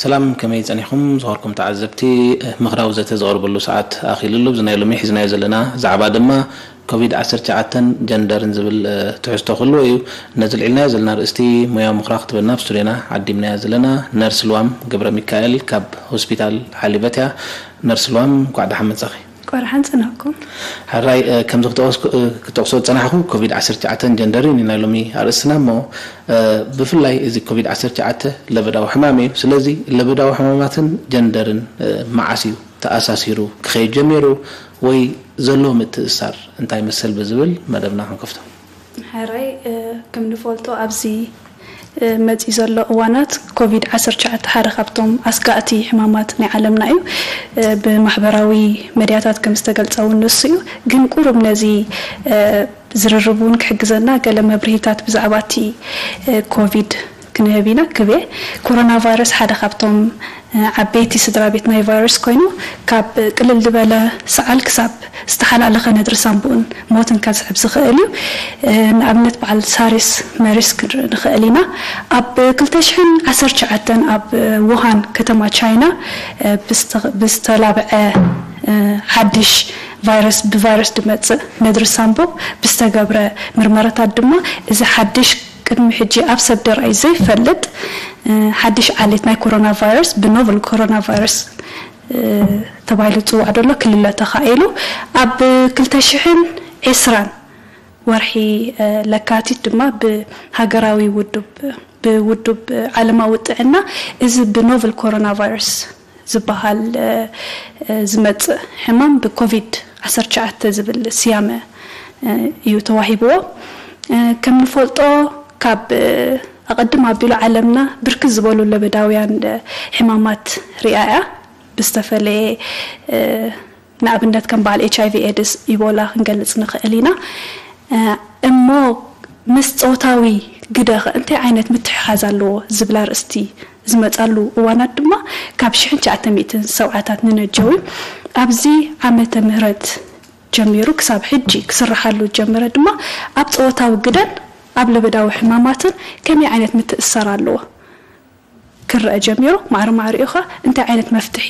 ሰላም፣ ከመይ ጸኒሕኩም? ዝኸበርኩም ተዓዘብቲ፣ ምኽራዊ ዘተ ዝቐርበሉ ሰዓት ኣኺሉ ኣሎ። እዚ ናይ ሎሚ ሒዝናዮ ዘለና ዛዕባ ድማ ኮቪድ ዓሰርተ ትሽዓተን ጀንደርን ዝብል፣ እ፣ ትሕዝቶ ክህልዎ እዩ። ነዚ ልዒልናዮ ዘለና ርእስቲ ሞያዊ ምኽራ ክትበና ኣብ ስቱድዮና ዓዲምናያ ዘለና ነርስ ልዋም ገብረ ሚካኤል ካብ ሆስፒታል ሓሊበት እያ። ነርስ ልዋም፣ እንኳዕ ደሓን መጻኺ። ቆርሓን ጽናኩም። ሕራይ፣ እ፣ ከምዚ ክጠቕስ-፣ እ፣ ክጠቕሶ ዝጸናሕኩ ኮቪድ ዓሰርተ ትሽዓተን ጀንደርን እዩ ናይ ሎሚ ኣርእስትና እሞ፣ እ፣ ብፍላይ እዚ ኮቪድ ዓሰርተ ትሽዓተ ለበዳዊ ሕማም እዩ። ስለዚ ለበዳዊ ሕማማትን ጀንደርን፣ እ፣ መዓስ እዩ ተኣሳሲሩ ክኸይድ ጀሚሩ ወይ ዘለዎ ምትእሳር እንታይ መሰል ብዝብል መደብና ክንከፍቶ። ሕራይ፣ እ፣ ከም ንፈልጦ ኣብዚ፣ እ፣ መጺኡ ዘሎ እዋናት ኮቪድ ዓሰርተ ትሽዓተ ሓደ ካብቶም ኣስጋእቲ ሕማማት ናይ ዓለምና እዩ። እ፣ ብማሕበራዊ መድያታት ከም ዝተገልጸ እውን ንሱ እዩ። ግን ቁሩብ ነዚ፣ እ፣ ዝርርብ እውን ክሕግዘና ገለ መብርሂታት ብዛዕባ እቲ፣ እ፣ ኮቪድ ክንህብ ኢና። ክብየ፣ ኮሮና ቫይረስ ሓደ ካብቶም፣ እ፣ ዓበይቲ ስድራ ቤት ናይ ቫይረስ ኮይኑ፣ ካብ ቅልል ዝበለ ሰዓል ክሳብ ዝተሓላለኸ ነድሪ ሳምቡእን ሞትን ከስዕብ ዝኽእል እዩ። እ፣ ንኣብነት በዓል ሳሪስ መሪስ ክንርኢ ንኽእል ኢና። ኣብ ክልተ ሽሕን ዓሰርተ ትሽዓተን ኣብ ውሃን ከተማ ቻይና፣ እ፣ ብዝተ-፣ ብዝተላብዐ፣ እ፣ ሓድሽ ቫይረስ፣ ብቫይረስ ዝመጽእ ነድሪ ሳምቡእ ብዝተገብረ ምርመራታት ድማ እዚ ሓድሽ ቅድሚ ሕጂ ኣብ ሰብ ደርኣይ ዘይፈልጥ፣ እ፣ ሓድሽ ዓሌት ናይ ኮሮና ቫይረስ ብኖቨል ኮሮና ቫይረስ፣ እ፣ ተባሂሉ ዝጽዋዕ ዘሎ ክልለ ተኻኢሉ። ኣብ ክልተ ሽሕን ዕስራን ወርሒ፣ እ፣ ለካቲት ድማ ብሃገራዊ ውዱብ፣ ብውዱብ ዓለማዊ ጥዕና እዚ ብኖቨል ኮሮና ቫይረስ ዝበሃል፣ እ፣ እ፣ ዝመጽእ ሕማም ብኮቪድ ዓሰርተ ትሽዓተ ዝብል ስያመ፣ እ፣ እዩ ተዋሂብዎ። እ፣ ከም ንፈልጦ ካብ፣ እ፣ ኣቐድም ኣቢሉ ዓለምና ብርክት ዝበሉ ለበዳውያን፣ እ፣ ሕማማት ሪኣ እያ። ብዝተፈለየ፣ እ፣ ንኣብነት ከም በዓል ኤች ኣይ ቪ ኤድስ፣ ኢቦላ ክንገልጽ ንኽእል ኢና። እ፣ እሞ ምስ ጾታዊ ግደ ኸ እንታይ ዓይነት ምትሕሓዝ ኣለዎ ዝብል ኣርእስቲ ዝመጻሉ እዋናት ድማ ካብ ሽሕን ትሽዓተ ሚእትን ሰብዓታት ንነጀው እዩ። ኣብዚ ዓመተ ምህረት ጀሚሩ ክሳብ ሕጂ ክስርሓሉ ዝጀመረ ድማ ኣብ ጾታዊ ግደን ኣብ ለበዳዊ ሕማማትን ከመይ ዓይነት ምትእስሳር ኣለዎ ክረአ ጀሚሩ፣ ማዕረ ማዕሪኡ ኸኣ እንታይ ዓይነት መፍትሒ፣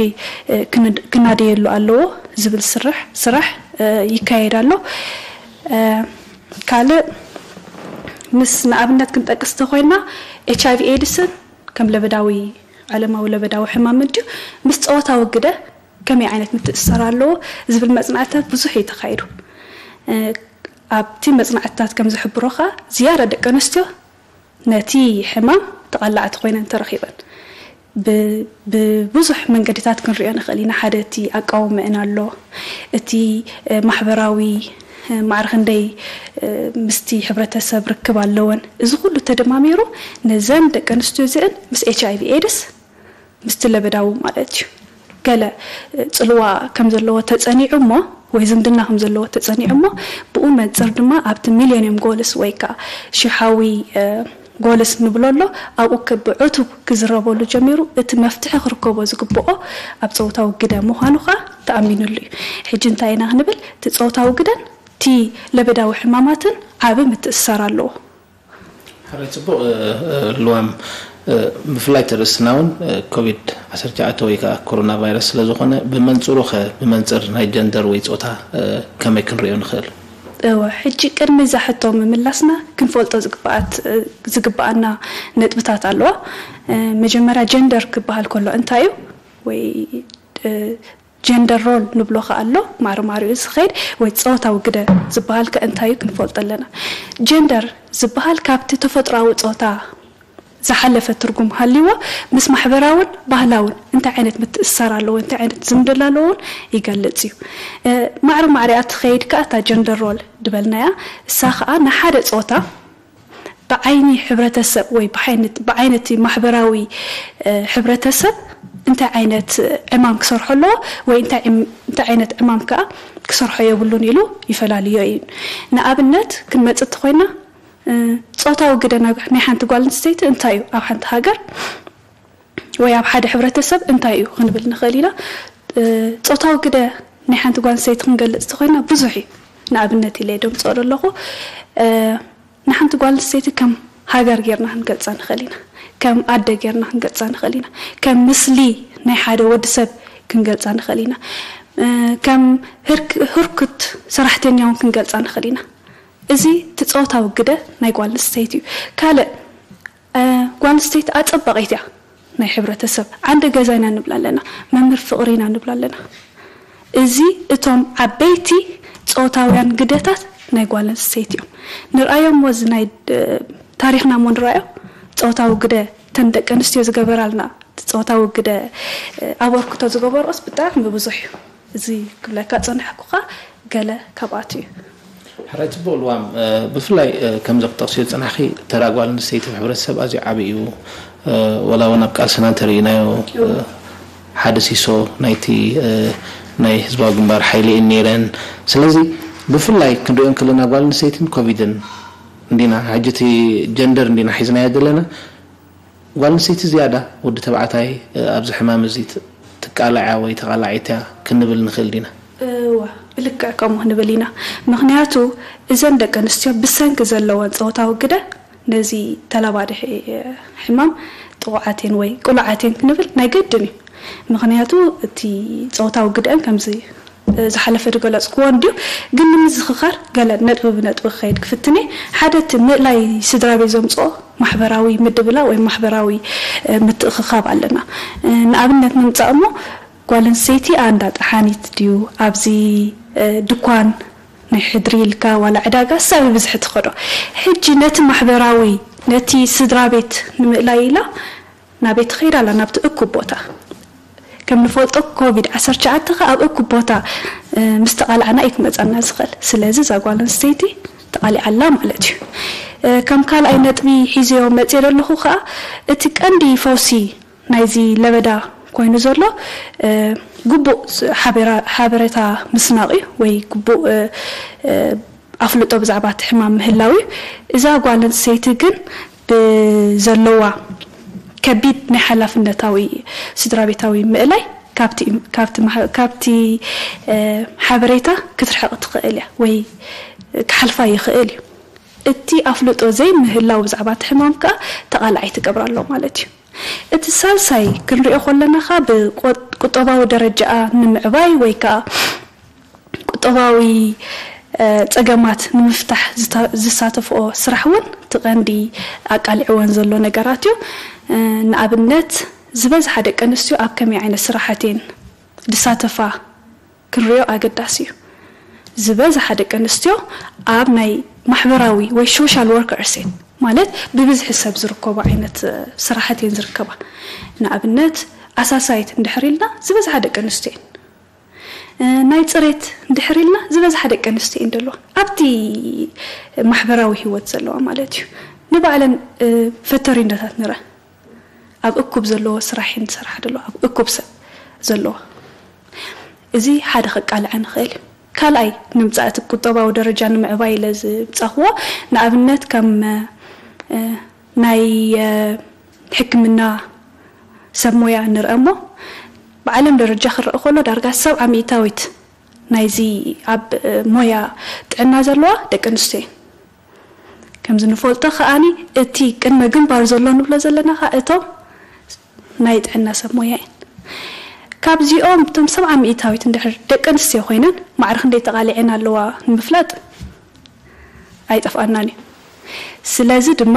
እ፣ ክን-፣ ክናደየሉ ኣለዎ ዝብል ስራሕ፣ ስራሕ፣ እ፣ ይካየድ ኣሎ። እ፣ ካልእ ምስ ንኣብነት ክንጠቅስ እንተኾይንና ኤች ኣይ ቪ ኤድስን ከም ለበዳዊ፣ ዓለማዊ ለበዳዊ ሕማም እንድዩ፣ ምስ ጾታዊ ግደ ከመይ ዓይነት ምትእስሳር ኣለዎ ዝብል መጽናዕትታት ብዙሕ እዩ ተኻይዱ። እ፣ ኣብቲ መጽናዕትታት ከም ዝሕብሮ ኸኣ ዝያዳ ደቂ ኣንስትዮ ነቲ ሕማም ተቓላዕቲ ኮይነን ተረኺበን። ብ-፣ ብብዙሕ መንገድታት ክንሪኦ ንኽእል ኢና። ሓደ እቲ ኣቃውመአን ኣሎ፣ እቲ፣ እ፣ ማሕበራዊ፣ እ፣ ማዕረ ክንደይ፣ እ፣ ምስቲ ሕብረተሰብ ርክብ ኣለወን። እዚ ኩሉ ተደማሚሩ ነዘን ደቂ ኣንስትዮ እዚአን ምስ ኤች ኣይ ቪ ኤድስ፣ ምስቲ ለበዳዊ ማለት እዩ። ገለ፣ እ፣ ጽልዋ ከም ዘለዎ ተጸኒዑ እሞ፣ ወይ ዝምድና ከም ዘለዎ ተጸኒዑ እሞ፣ ብኡ መንጽር ድማ ኣብቲ ሚሌኒየም ጎልስ ወይ ከኣ ሽሓዊ፣ እ፣ ጎልስ ንብሎ ኣሎ፣ ኣብኡ ከ-፣ ብዕቱብ ክዝረበሉ ጀሚሩ፣ እቲ መፍትሒ ክርከቦ ዝግብኦ ኣብ ጾታዊ ግደ ምዃኑ ከኣ ተኣሚኑሉ እዩ። ሕጂ እንታይ ኢና ክንብል? እቲ ጾታዊ ግደን እቲ ለበዳዊ ሕማማትን ዓቢ ምትእስሳር ኣለዎ። ሕራይ ጽቡቕ፣ እ፣ እ፣ ልዋም፣ እ፣ ብፍላይ እቲ ርእስና እውን፣ እ፣ ኮቪድ ዓሰርተ ትሽዓተ ወይ ከኣ ኮሮና ቫይረስ ስለ ዝኾነ፣ ብመንጽሩ ኸ፣ ብመንጽር ናይ ጀንደር ወይ ጾታ፣ እ፣ ከመይ ክንርእዮ ንኽእል? እወ፣ ሕጂ ቅድሚ እዛ ሕቶ ምምላስና ክንፈልጦ ዝግብኣት-፣ እ፣ ዝግብኣና ነጥብታት ኣለዋ። እ፣ መጀመርያ ጀንደር ክበሃል ከሎ እንታይ እዩ? ወይ፣ እ፣ ጀንደር ሮል ንብሎ ከኣ ኣሎ፣ ማዕረ ማዕሪኡ ዝኸይድ ወይ ጾታዊ ግደ ዝበሃል ከ እንታይ እዩ ክንፈልጦ ኣለና። ጀንደር ዝበሃል ካብቲ ተፈጥሮኣዊ ጾታ ዝሓለፈ ትርጉም ሃልይዎ፣ ምስ ማሕበራውን ባህላውን እንታይ ዓይነት ምትእስሳር ኣለዎ፣ እንታይ ዓይነት ዝምድና ኣለዎ እውን ይገልጽ እዩ። እ፣ ማዕረ ማዕሪኣ ትኸይድ ከኣ እታ ጀንደር ሮል ድበልናያ፣ እሳ ከኣ ንሓደ ጾታ ብዓይኒ ሕብረተሰብ ወይ ብዓይነት-፣ ብዓይነቲ ማሕበራዊ፣ እ፣ ሕብረተሰብ እንታይ ዓይነት ዕማም ክሰርሖ ኣለዎ ወይ እንታይ ዕም- እንታይ ዓይነት ዕማም ከኣ ክሰርሖ የብሉን ኢሉ ይፈላልዮ እዩ። ንኣብነት ክንመጽእ እንተኾይና፣ እ፣ ጾታዊ ግደ ናይ ናይ ሓንቲ ጓል ኣንስተይቲ እንታይ እዩ ኣብ ሓንቲ ሃገር ወይ ኣብ ሓደ ሕብረተሰብ እንታይ እዩ ክንብል ንኽእል ኢና። እ፣ ጾታዊ ግደ ናይ ሓንቲ ጓል ኣንስተይቲ ክንገልጽ እንተኾይና ብዙሕ እዩ። ንኣብነት ኢለ ደምጽኦ ዘለኹ፣ እ፣ ንሓንቲ ጓል ኣንስተይቲ ከም ሃገር ጌርና ክንገልጻ ንኽእል ኢና። ከም ኣደ ጌርና ክንገልጻ ንኽእል ኢና። ከም ምስሊ ናይ ሓደ ወዲ ሰብ ክንገልጻ ንኽእል ኢና። እ፣ ከም ህርክ- ህርኩት ሰራሕተኛ እውን ክንገልጻ ንኽእል ኢና። እዚ እቲ ጾታዊ ግደ ናይ ጓል ኣንስተይቲ እዩ። ካልእ፣ እ፣ ጓል ኣንስተይቲ ኣጸባቒት እያ ናይ ሕብረተሰብ። ዓንዲ ገዛ ኢና ንብላ ኣለና፣ መምህር ፍቕሪ ኢና ንብላ ኣለና። እዚ እቶም ዓበይቲ ጾታውያን ግደታት ናይ ጓል ኣንስተይቲ እዮም። ንርኣዮም፣ እዚ ናይ፣ እ፣ ታሪኽና እሞ ንርኣዮ። ጾታዊ ግደ እተን ደቂ ኣንስትዮ ዝገበራልና ጾታዊ ግደ፣ እ፣ ኣበርክቶ ዝገበርኦስ ብጣዕሚ ብዙሕ እዩ። እዚ ክብለካ ጸናሕኩኻ ገለ ካብኣቱ እዩ። ሕራይ ጽቡቕ ልዋም፣ እ፣ ብፍላይ፣ እ፣ ከምዚ ክጠቕስዮ ዝጸናሕኪ ተራ ጓል ኣንስተይቲ ኣብ ሕብረተሰብ ኣዝዩ ዓቢ እዩ። እ፣ ወላ እውን ኣብ ቃልስና እንተርኢናዮ፣ እ፣ ሓደ ሲሶ ናይቲ፣ እ፣ ናይ ህዝባዊ ግንባር ሓይሊ እየን ነይረን። ስለዚ ብፍላይ ክንሪኦ እንከለና ጓል ኣንስተይትን ኮቪድን እንዲና፣ ሕጂ እቲ ጀንደር እንዲና ሒዝናዮ ዘለና። ጓል ኣንስተይቲ ዝያዳ ወዲ ተባዕታይ፣ እ፣ ኣብዚ ሕማም እዚ ት- ትቃላዕ ወይ ተቓላዒት እያ ክንብል ንኽእል ዲና? እወ፣ ብልክዕ ከምኡ ክንብል ኢና። ምኽንያቱ እዘን ደቂ ኣንስትዮ ብሰንኪ ዘለወን ጾታዊ ግደ ነዚ ተላባዲ ሕ- ሕማም ጥቑዓት እየን ወይ ቅሉዓት እየን ክንብል ናይ ግድን እዩ። ምኽንያቱ እቲ ጾታዊ ግደአን ከምዚ ዝሓለፈ ዝገለጽክዎ እንድዩ፣ ግን ንምዝኽኻር ገለ ነጥቢ ብነጥቢ ክኸይድ ክፍትን እየ። ሓደ እቲ ምእላይ ስድራ ቤት ዘምጽኦ ማሕበራዊ ምድብላ ወይ ማሕበራዊ፣ እ፣ ምትእኽኻብ ኣለና። እ፣ ንኣብነት ንምጻእ እሞ ጓል ኣንስተይቲ ኣንዳ ጠሓኒት ድዩ ኣብዚ፣ እ፣ ድኳን ናይ ሕድሪ ኢልካ ዋላ ዕዳጋ ሳብ ብዝሒ ትኸዶ። ሕጂ ነቲ ማሕበራዊ ነቲ ስድራ ቤት ንምእላይ ኢላ ናበይ ትኸይድ ኣላ? ናብቲ እኩብ ቦታ። ከም ንፈልጦ ኮቪድ ዓሰርተ ትሽዓተ ከኣ ኣብ እኩብ ቦታ፣ እ፣ ምስ ተቓላዕና እዩ ክመጸና ዝኽእል። ስለዚ እዛ ጓል ኣንስተይቲ ተቓሊዓ ኣላ ማለት እዩ። እ፣ ከም ካልኣይ ነጥቢ ሒዘዮ መጽየ ዘለኹ ከኣ እቲ ቀንዲ ፈውሲ ናይዚ ለበዳ ኮይኑ ዘሎ፣ እ፣ ግቡእ ስ- ሓበራ- ሓበሬታ ምስናቕ እዩ ወይ ግቡእ፣ እ፣ እ፣ ኣፍልጦ ብዛዕባ እቲ ሕማም ምህላው እዩ። እዛ ጓል ኣንስተይቲ ግን ብዘለዋ ከቢድ ናይ ሓላፍነታዊ ስድራ ቤታዊ ምእላይ ካብቲ ካብቲ ማሕ- ካብቲ፣ እ፣ ሓበሬታ ክትርሕቕ ትኽእል እያ ወይ ክሓልፋ ይኽእል እዩ። እቲ ኣፍልጦ ዘይምህላው ብዛዕባ እቲ ሕማም ከኣ ተቓላዓይ ትገብራ ኣሎ ማለት እዩ። እቲ ሳልሳይ ክንሪኦ ከለና ከኣ ብቆ- ቁጠባዊ ደረጃኣ ንምዕባይ ወይ ከኣ ቁጠባዊ፣ እ፣ ጸገማት ንምፍታሕ ዝታ- ዝሳተፍኦ ስራሕ እውን እቲ ቀንዲ ኣቃሊዕወን ዘሎ ነገራት እዩ። እ፣ ንኣብነት ዝበዝሓ ደቂ ኣንስትዮ ኣብ ከመይ ዓይነት ስራሓት እየን ዝሳተፋ ክንሪኦ ኣገዳሲ እዩ። ዝበዝሓ ደቂ ኣንስትዮ ኣብ ናይ ማሕበራዊ ወይ ሶሻል ወርከርስ እየን፣ ማለት ብብዝሒ ሰብ ዝርከቦ ዓይነት፣ እ፣ ስራሓት እየን ዝርከባ። ንኣብነት ኣሳሳይት እንድሕር ኢልና ዝበዝሓ ደቂ ኣንስትዮ እየን። እ፣ ናይ ጽሬት እንድሕር ኢልና ዝበዝሓ ደቂ ኣንስትዮ እየን ዘለዋ ኣብቲ ማሕበራዊ ህይወት ዘለዋ ማለት እዩ። ንባዕለን፣ እ፣ ፈተሪነታት ንረ ኣብ እኩብ ዘለዎ ስራሕ እየን ዝሰርሓ ዘለዋ፣ ኣብ እኩብ ሰብ ዘለዋ። እዚ ሓደ ከቃልዐ ንኽእል እዩ። ካልኣይ ንምጻእ እቲ ቁጠባዊ ደረጃ ንምዕባይ ኢለ ዝምጻኽዎ፣ ንኣብነት ከም፣ እ፣ ናይ፣ እ፣ ሕክምና ሰብ ሞያ ንርአ እሞ፣ ብዓለም ደረጃ ክረአ ከሎ ዳርጋ ሰብዓ ሚእታዊት ናይዚ ኣብ፣ እ፣ ሞያ ጥዕና ዘለዋ ደቂ ኣንስትዮ እየን። ከምዚ ንፈልጦ ከኣኒ እቲ ቅድመ ግንባር ዘሎ ንብሎ ዘለና ከኣ እቶም ናይ ጥዕና ሰብ ሞያ እየን። ካብዚኦም እቶም ሰብዓ ሚእታዊት እንድሕር ደቂ ኣንስትዮ ኮይነን ማዕረ ክንደይ ተቓሊዐን ኣለዋ ንምፍላጥ ኣይጠፍኣናን እዩ። ስለዚ ድማ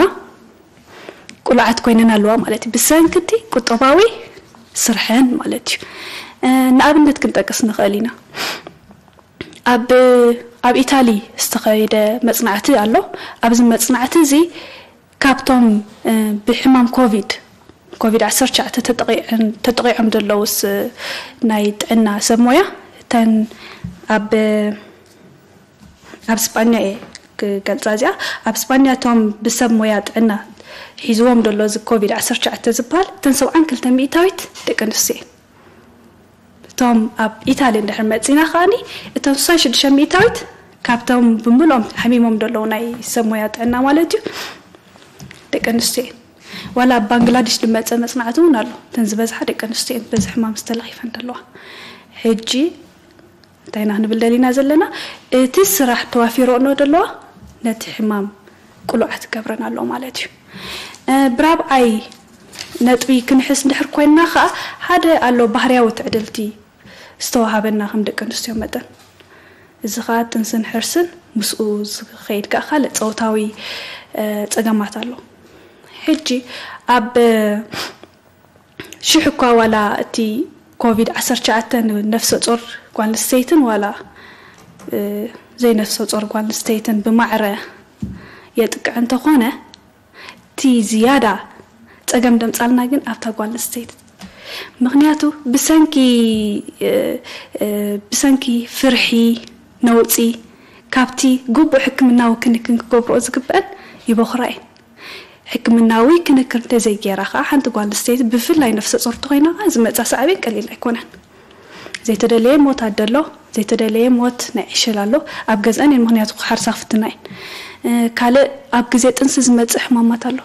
ቁሉዓት ኮይነን ኣለዋ ማለት እዩ። ብሰንኪ እቲ ቁጠባዊ ስርሐን ማለት እዩ። እ፣ ንኣብነት ክንጠቅስ ንኽእል ኢና። ኣብ ኣብ ኢታሊ ዝተኸየደ መጽናዕቲ ኣሎ። ኣብዚ መጽናዕቲ እዚ ካብቶም፣ እ፣ ብሕማም ኮቪድ ኮቪድ ዓሰርተ ትሽዓተ ተጠቒዐን- ተጠቒዖም ዘለውስ ናይ ጥዕና ሰብ ሞያ እተን ኣብ ኣብ ስጳኛ እየ ክገልጻ እዚኣ። ኣብ ስጳኛ እቶም ብሰብ ሞያ ጥዕና ሒዝዎም ዘሎ እዚ ኮቪድ ዓሰርተ ትሽዓተ ዝበሃል እተን ሰብዓን ክልተ ሚእታዊት ደቂ ኣንስትዮ እየን። እቶም ኣብ ኢታሊ እንድሕር መጺና ከኣኒ እቶም ስሳን ሽዱሽተ ሚእታዊት ካብቶም ብምልኦም ሓሚሞም ዘለዉ ናይ ሰብ ሞያ ጥዕና ማለት እዩ ደቂ ኣንስትዮ እየን። ዋላ ኣብ ባንግላዴሽ ዝመጸ መጽናዕቲ እውን ኣሎ። እተን ዝበዝሓ ደቂ ኣንስትዮ እየን በዚ ሕማም ዝተለኺፈን ዘለዋ። ሕጂ እንታይ ኢና ክንብል ደሊና ዘለና? እቲ ስራሕ ተዋፊረኦ ዘለዋ ነቲ ሕማም ቅሉዓት ክገብረን ኣለዎ ማለት እዩ። ብራብዓይ ነጥቢ ክንሕስ እንድሕር ኮይንና ከዓ ሓደ ኣሎ ባህርያዊ ትዕድልቲ ዝተዋሃበና ከም ደቂ ኣንስትዮ መጠን። እዚ ከዓ ጥንስን ሕርስን ምስኡ ዝኸይድ ከዓ ካልእ ፆታዊ ፀገማት ኣሎ። ሕጂ ኣብ ሽሕ እኳ ዋላ እቲ ኮቪድ ዓሰርተ ትሽዓተ ንነፍሰ ጾር ጓል ኣንስተይትን ዋላ ዘይነፍሰ ጾር ጓል ኣንስተይትን ብማዕረ የጥቅዕ እንተኾነ እቲ ዝያዳ ጸገም ደምጻልና ግን ኣብታ ጓል ኣንስተይቲ። ምኽንያቱ ብሰንኪ ብሰንኪ ፍርሒ፣ ነውጺ ካብቲ ግቡእ ሕክምናዊ ክንክን ክገብርኦ ዝግበአን ይበኹራ እየን። ሕክምናዊ ክንክን እንተዘይገይራ ከዓ ሓንቲ ጓል ኣንስተይቲ ብፍላይ ነፍሰ ጾር እንተኾይና ከዓ ዝመጻ ሳዕቤን ቀሊል ኣይኮነን። ዘይተደለየ ሞት ኣደ ኣሎ፣ ዘይተደለየ ሞት ናይ ዕሸል ኣሎ። ኣብ ገዝአን እየን ምኽንያቱ ክሓርሳ ክፍትና እየን። ካልእ ኣብ ግዜ ጥንሲ ዝመጽእ ሕማማት ኣሎ።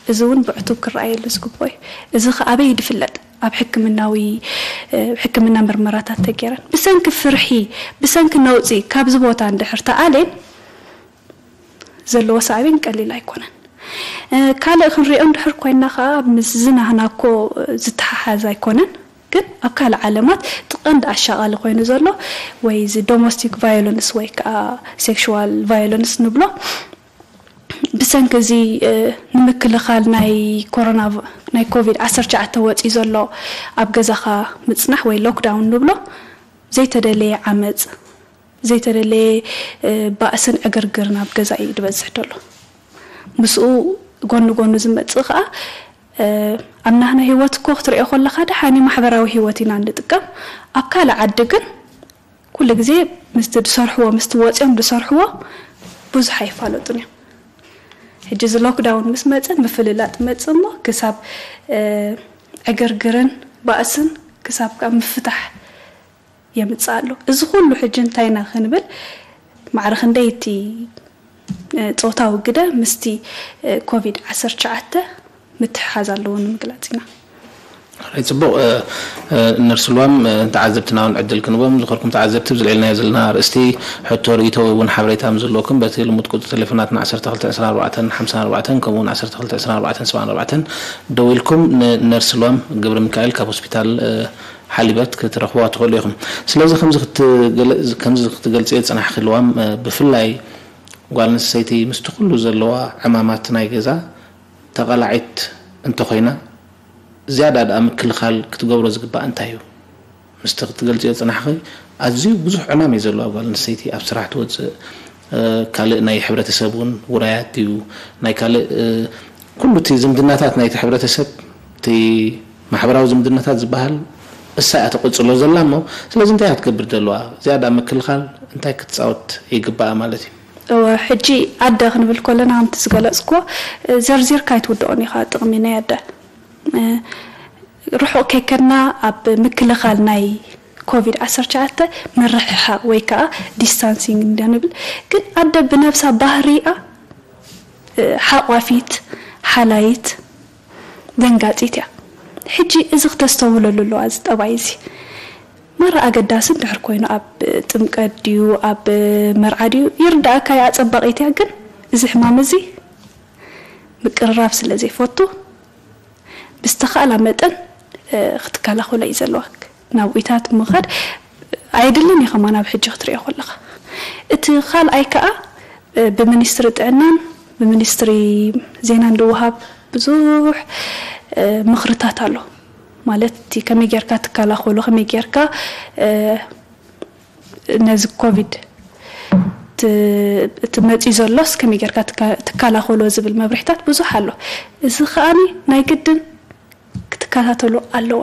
እዚ እውን ብዕቱብ ክረኣየሉ ዝግብኦ እዩ። እዚ ከ ኣበይ ድፍለጥ? ኣብ ሕክምናዊ ሕክምና ምርመራታት ተገይረን ብሰንኪ ፍርሒ ብሰንኪ ነውፂ ካብዚ ቦታ እንድሕር ተኣሌን ዘለዎ ሳዕቤን ቀሊል ኣይኮነን። ካልእ ክንሪኦ እንድሕር ኮይና ከዓ ምስ ዝናህና እኮ ዝተሓሓዝ ኣይኮነን፣ ግን ኣብ ካልእ ዓለማት እቲ ቀንዲ ኣሻቓሊ ኮይኑ ዘሎ ወይ እዚ ዶሞስቲክ ቫዮለንስ ወይ ከዓ ሴክሽዋል ቫዮለንስ ንብሎ ብሰንኪ እዚ ንምክልኻል ናይ ኮሮና ናይ ኮቪድ ዓሰርተ ትሽዓተ ወፂ ዘሎ ኣብ ገዛኻ ምፅናሕ ወይ ሎክዳውን ንብሎ ዘይተደለየ ዓመፅ ዘይተደለየ ባእስን ዕግርግርን ኣብ ገዛ እዩ ዝበዝሕ ዘሎ። ምስኡ ጎኒ ጎኑ ዝመፅእ ከዓ ኣብ ናህና ህይወት እኮ ክትሪኦ ከለካ ደሓኒ ማሕበራዊ ህይወት ኢና እንጥቀም። ኣብ ካልእ ዓዲ ግን ኩሉ ግዜ ምስቲ ዝሰርሕዎ ምስቲ ወፂኦም ዝሰርሕዎ ብዙሕ ኣይፋለጡን እዮም። ሕጂ እዚ ሎክዳውን ምስ መፀ ምፍልላጥ መፅ እሞ ክሳብ ዕግርግርን ባእስን ክሳብ ካብ ምፍታሕ የምፅእ ኣሎ። እዚ ኩሉ ሕጂ እንታይ ኢና ክንብል ማዕረ ክንደይ እቲ ፆታዊ ግደ ምስቲ ኮቪድ ዓሰርተ ትሽዓተ ምትሕሓዝ ኣለዎ ንምግላፅ ኢና። ጽቡቕ። ነርስ ልዋም፣ ተዓዘብትና እውን ዕድል ክንቦም ዝኸርኩም ተዓዘብቲ ብዝልዕልናዮ ዘለና ኣርእስቲ ሕቶ ርእይቶ እውን ሓበሬታ ምስ ዘለኩም በቲ ልሙድ ቁፅሪ ቴሌፎናትና ዓሰርተ ክልተ ዕስራን ኣርባዕተን ሓምሳን ኣርባዕተን ከምኡ እውን ዓሰርተ ክልተ ዕስራን ኣርባዕተን ሰብዓን ኣርባዕተን ደዊልኩም ንነርስ ልዋም ገብረ ሚካኤል ካብ ሆስፒታል ሓሊበት ክትረኽብዋ ትኽእሉ ኢኹም። ስለዚ ከምዚ ክትገልፅዮ ዝፅናሕኪ ልዋም ብፍላይ ጓል ኣንስተይቲ ምስቲ ኩሉ ዘለዋ ዕማማት ናይ ገዛ ተቓላዒት እንተኾይና ዝያዳ ደኣ ምክልኻል ክትገብሮ ዝግባእ እንታይ እዩ? ምስቲ ክትገልፅዮ ዝፅናሕኺ ኣዝዩ ብዙሕ ዕማም እዩ ዘለዎ ኣብ ጓል ኣንስተይቲ ኣብ ስራሕ ትወፅእ ካልእ ናይ ሕብረተሰብ እውን ውራያት ድዩ ናይ ካልእ ኩሉ እቲ ዝምድናታት ናይቲ ሕብረተሰብ እቲ ማሕበራዊ ዝምድናታት ዝበሃል እሳ እያ ተቐፅሎ ዘላ እሞ ስለዚ እንታይ እያ ክትገብር ዘለዋ ዝያዳ ምክልኻል እንታይ ክትፃወት ይግባኣ ማለት እዩ እወ ሕጂ ኣደ ክንብል ከለና ከምቲ ዝገለፅኩዎ ዘርዚርካ ኣይትውድኦን ኢኻ ጥቕሚ ናይ ኣደ ርሑቕ ከይከድና ኣብ ምክልኻል ናይ ኮቪድ ዓሰርተ ትሽዓተ ምርሕሓቕ ወይ ከዓ ዲስታንሲንግ እንዳ ንብል ግን ኣደ ብነብሳ ባህሪኣ ሓቋፊት ሓላይት ደንጋፂት እያ ሕጂ እዚ ክተስተውህለሉ ኣለዋ እዚ ጠባይ እዚ ማራ ኣገዳሲ እንድሕር ኮይኑ ኣብ ጥምቀት ድዩ ኣብ መርዓ ድዩ ይርዳእካ እያ ኣፀባቂት እያ ግን እዚ ሕማም እዚ ምቅርራብ ስለ ዘይፈቱ ብዝተኻእላ መጠን ክትከላኸሎ እዩ ዘለዋ ናብኡታት ምኻድ ኣይድልን እዩ ከማን ኣብ ሕጂ ክትሪኦ ከለኻ እቲ ካልኣይ ከዓ ብሚኒስትሪ ጥዕናን ብሚኒስትሪ ዜናን ዝወሃብ ብዙሕ ምኽርታት ኣሎ ማለት እቲ ከመይ ጌርካ ትከላኸሎ ከመይ ጌርካ ነዚ ኮቪድ እቲ መፅዩ ዘሎስ ከመይ ጌርካ ትከላኸሎ ዝብል መብርሕታት ብዙሕ ኣሎ እዚ ከኣኒ ናይ ግድን ክትከታተሎ ኣለዋ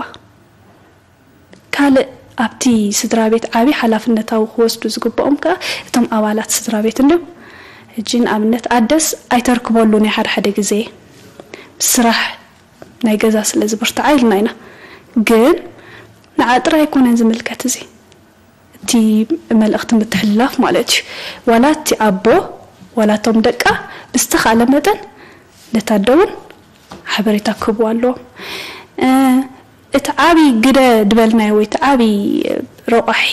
ካልእ ኣብቲ ስድራ ቤት ዓብዪ ሓላፍነታዊ ክወስዱ ዝግብኦም ከኣ እቶም ኣባላት ስድራ ቤት እንድዮም። ሕጂ ንኣብነት ኣደስ ኣይተርክበሉን እያ ሓደ ሓደ ግዜ ስራሕ ናይ ገዛ ስለ ዝብርትዓ ኢልና ኢና። ግን ንዓ ጥራይ ኣይኮነን ዝምልከት እዚ፣ እቲ መልእኽቲ ምትሕልላፍ ማለት እዩ። ዋላ እቲ ኣቦ ዋላ እቶም ደቃ ብዝተኻእለ መጠን ነታ ኣደ እውን ሓበሬታ ክህብዋ ኣለዎም። እቲ ዓብዪ ግደ ዝበልናዮ ወይ እቲ ዓብዪ ረቋሒ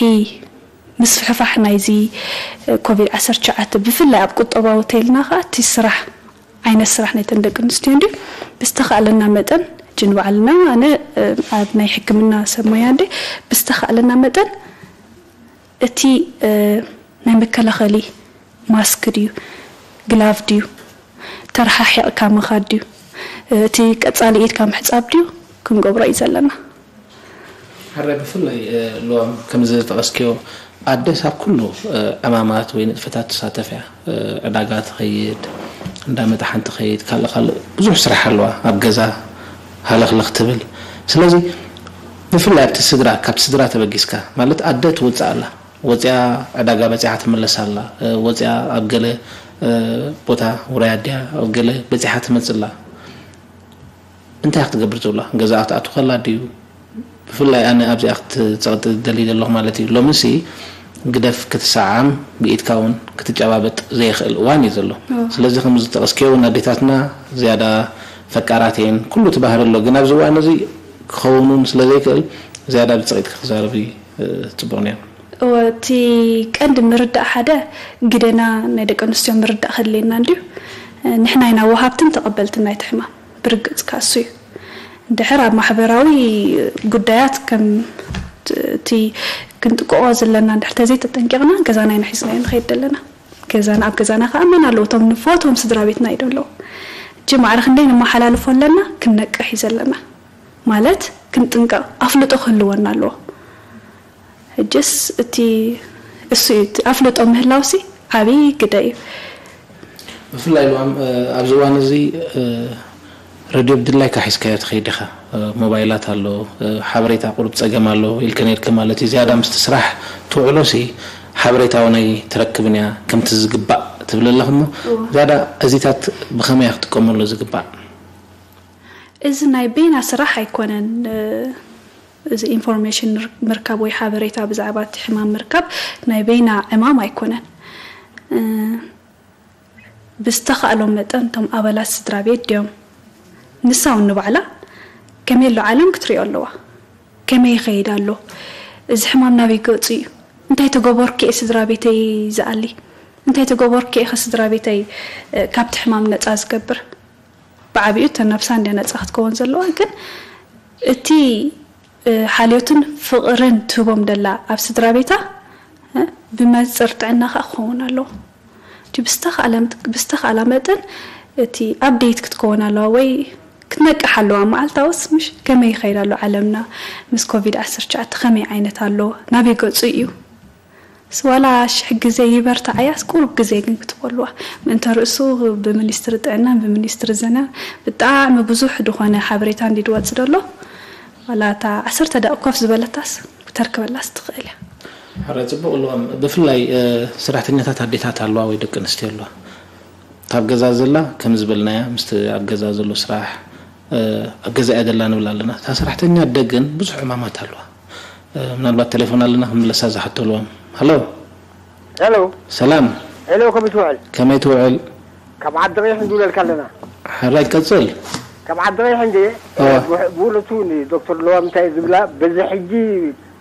ምስፍሕፋሕ ናይዚ ኮቪድ ዓሰርተ ትሽዓተ ብፍላይ ኣብ ቁጠባዊ ተይልና ከዓ እቲ ስራሕ ዓይነት ስራሕ ናይተን ደቂ ኣንስትዮ እንዲ ብዝተኻእለና መጠን እጂ ንባዕልና ኣነ ኣብ ናይ ሕክምና ሰብ ሞያ እንዲ ብዝተኻእለና መጠን እቲ ናይ መከላኸሊ ማስክ ድዩ፣ ግላቭ ድዩ፣ ተረሓሒቕካ ምኻድ ድዩ፣ እቲ ቀጻሊ ኢድካ ምሕጻብ ድዩ ክንገብሮ እዩ ዘለና። ሕራይ ብፍላይ ልዋም ከምዚ ዝጠቐስክዮ ኣደስ ኣብ ኩሉ ዕማማት ወይ ንጥፈታት ትሳተፍ እያ። ዕዳጋ ትኸይድ፣ እንዳ መጥሓን ትኸይድ፣ ካልእ ካልእ ብዙሕ ስራሕ ኣለዋ ኣብ ገዛ ሃለኽለኽ ትብል። ስለዚ ብፍላይ ኣብቲ ስድራ፣ ካብቲ ስድራ ተበጊስካ ማለት ኣደ ትወፅእ ኣላ፣ ወፂኣ ዕዳጋ በፂሓ ትምለስ ኣላ፣ ወፂኣ ኣብ ገለ ቦታ ውራይ ኣድያ ኣብ ገለ በፂሓ ትመፅእ ኣላ። እንታይ ክትገብር ትብላ? ገዛኣ ክትኣቱ ከላ ድዩ? ብፍላይ ኣነ ኣብዚኣ ክትፀቕጢ ደሊ ዘለኹ ማለት እዩ። ሎምሲ ግደፍ ክትሰዓም ብኢድካ እውን ክትጨባበጥ ዘይኽእል እዋን እዩ ዘሎ። ስለዚ ከም ዝጠቐስክዮ እውን ኣዴታትና ዝያዳ ፈቃራት እየን። ኩሉ እቲ ባህሪ ኣሎ፣ ግን ኣብዚ እዋን እዚ ክኸውን እውን ስለ ዘይክእል ዝያዳ ብፅቕኢት ክዛረብ እዩ ፅቡቕ ነይሩ። እወ፣ እቲ ቀንዲ ምርዳእ ሓደ ግደና ናይ ደቂ ኣንስትዮ ምርዳእ ከድልየና እንድዩ። ንሕና ኢና ወሃብትን ተቐበልትን ናይቲ ሕማም። ብርግጽ ከኣ እሱ እዩ። እንድሕር ኣብ ማሕበራዊ ጉዳያት ከም እቲ ክንጥቅቆ ዘለና እንድሕር ተዘይተጠንቂቕና ገዛና ኢና ሒዝናዮ ንኸይድ ዘለና። ገዛና ኣብ ገዛና ከኣ መን ኣለዉ? እቶም ንፈትዎም ስድራ ቤትና እዩ ዘለዉ። እጂ ማዕረ ክንደይ ነመሓላልፎ ኣለና ክንነቅሕ እዩ ዘለና። ማለት ክንጥንቀቕ ኣፍልጦ ክህልወና ኣለዎ። ሕጅስ እቲ እሱ እዩ እቲ ኣፍልጦ ምህላውሲ ዓብዪ ግደ እዩ። ብፍላይ ልዋም ኣብዚ እዋን እዚ ረድዮ ብድላይካ ሒዝካዮ ትኸይድ ኢኻ። ሞባይላት ኣሎ፣ ሓበሬታ ቁሩብ ፀገም ኣሎ ኢልከ ነይርኪ ማለት እዩ። ዝያዳ ምስቲ ስራሕ ትውዕሎሲ ሓበሬታ እውን ኣይትረክብን እያ ከምቲ ዝግባእ ትብል ኣለኽ እሞ ዝያዳ እዚታት ብኸመይ እያ ክጥቀመሉ ዝግባእ? እዚ ናይ በይና ስራሕ ኣይኮነን። እዚ ኢንፎርሜሽን ምርካብ ወይ ሓበሬታ ብዛዕባ እቲ ሕማም ምርካብ ናይ በይና ዕማም ኣይኮነን። ብዝተኻእሎም መጠን እቶም ኣባላት ስድራ ቤት ድዮም ንሳ እውን ንባዕላ ከመይ ኣሎ ዓለም ክትሪኦ ኣለዋ። ከመይ ይኸይድ ኣሎ? እዚ ሕማም ናበይ ገፁ እዩ? እንታይ ተገበርኩ እየ ስድራ ቤተይ ዝኣሊ? እንታይ ተገበርኩ እየ ከ ስድራ ቤተይ ካብቲ ሕማም ነፃ ዝገብር? ብዓቢኡ እተን ነብሳ እንድያ ነጻ ክትከውን ዘለዋ፣ ግን እቲ ሓልዮትን ፍቕርን ትህቦም ደላ ኣብ ስድራ ቤታ ብመንጽር ጥዕና ከኣ ክኸውን ኣለዎ። እቲ ብዝተኻእላ መጠን እቲ ኣፕዴት ክትከውን ኣለዋ ወይ ክትነቅሕ ኣለዋ። መዓልታውስ ምሽ ከመይ ይኸይድ ኣሎ ዓለምና ምስ ኮቪድ ዓሰርተ ትሽዓተ ከመይ ዓይነት ኣሎ ናበይ ገጹ እዩ። ስዋላ ሽሕ ግዜ ይበርትዓያስ ቁሩብ ግዜ ግን ክትበልዋ ምእንተ ርእሱ ብሚኒስትሪ ጥዕናን ብሚኒስትሪ ዘና ብጣዕሚ ብዙሕ ድኾነ ሓበሬታ እንዲ ድወፅ ደሎ ዋላ እታ ዓሰርተ ደቂ ኮፍ ዝበለታስ ክተርክበላስ ትኽእል እያ። ሕራይ ጽቡቕ ኣለዋም ብፍላይ ሰራሕተኛታት ኣዴታት ኣለዋ ወይ ደቂ ኣንስትዮ ኣለዋ ካብ ገዛ ዘላ ከም ዝበልናያ ምስቲ ኣብ ገዛ ዘሎ ስራሕ ኣብ ገዛ እያ ዘላ ንብል ኣለና እታ ሰራሕተኛ ኣደ ግን ብዙሕ ዕማማት ኣለዋ ምናልባት ቴሌፎን ኣለና ክምለሳ ዝሓተልዎም ሃሎ ሄሎ ሰላም ሄሎ ከመይ ትውዕል ከመይ ትውዕል ካብ ዓዲ ቀይሕ ንድውለልካ ኣለና ሕራይ ቀፅል ካብ ዓዲ ቀይሕ እንደ ብእውነቱ ዶክተር ለዋም እንታይ ዝብላ በዚ ሕጂ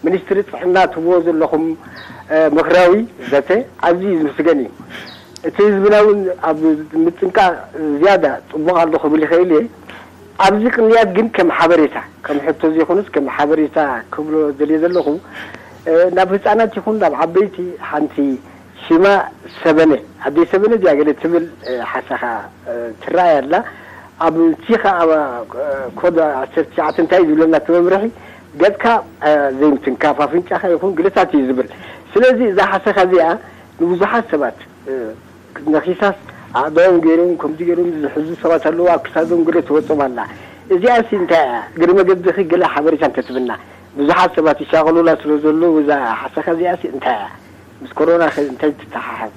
ሚኒስትሪ ጥዕና ትብዎ ዘለኹም ምኽራዊ ዘተ ኣዝዩ ዝምስገን እዩ እቲ ህዝብና እውን ኣብ ምጥንቃቕ ዝያዳ ፅቡቕ ኣሎ ክብል ይኽእል እየ ኣብዚ ቅንያት ግን ከም ሓበሬታ ከም ሕቶ ዘይኮነስ ከም ሓበሬታ ክብሎ ደልየ ዘለኹ ናብ ህፃናት ይኹን ናብ ዓበይቲ ሓንቲ ሽማ ሰበነ ኣደይ ሰበነ እዚኣ ገለ ትብል ሓሳኻ ትረኣይ ኣላ ኣብ ቲኻ ኮድ ዓሰርተ ትሽዓተ እንታይ ዝብለና እቲ መምርሒ ገፅካ ዘይምትንካፍ ኣፍንጫኻ ይኹን ግለታት እዩ ዝብል ስለዚ እዛ ሓሰኻ እዚኣ ንብዙሓት ሰባት ነኺሳስ ኣእዳዎም ገይሮም ከምዚ ገይሮም ዝሕዙ ሰባት ኣለዉ ኣብ ክሳዶም ገለ ትወጾም ኣላ እዚኣሲ እንታይ እያ እግሪ መገድኺ ገለ ሓበሬታ እንተትብና ብዙሓት ሰባት ይሻቐሉላ ስለ ዘለዉ እዛ ሓሰኻ እዚኣሲ እንታይ እያ ምስ ኮሮና እንታይ ትተሓሓዝ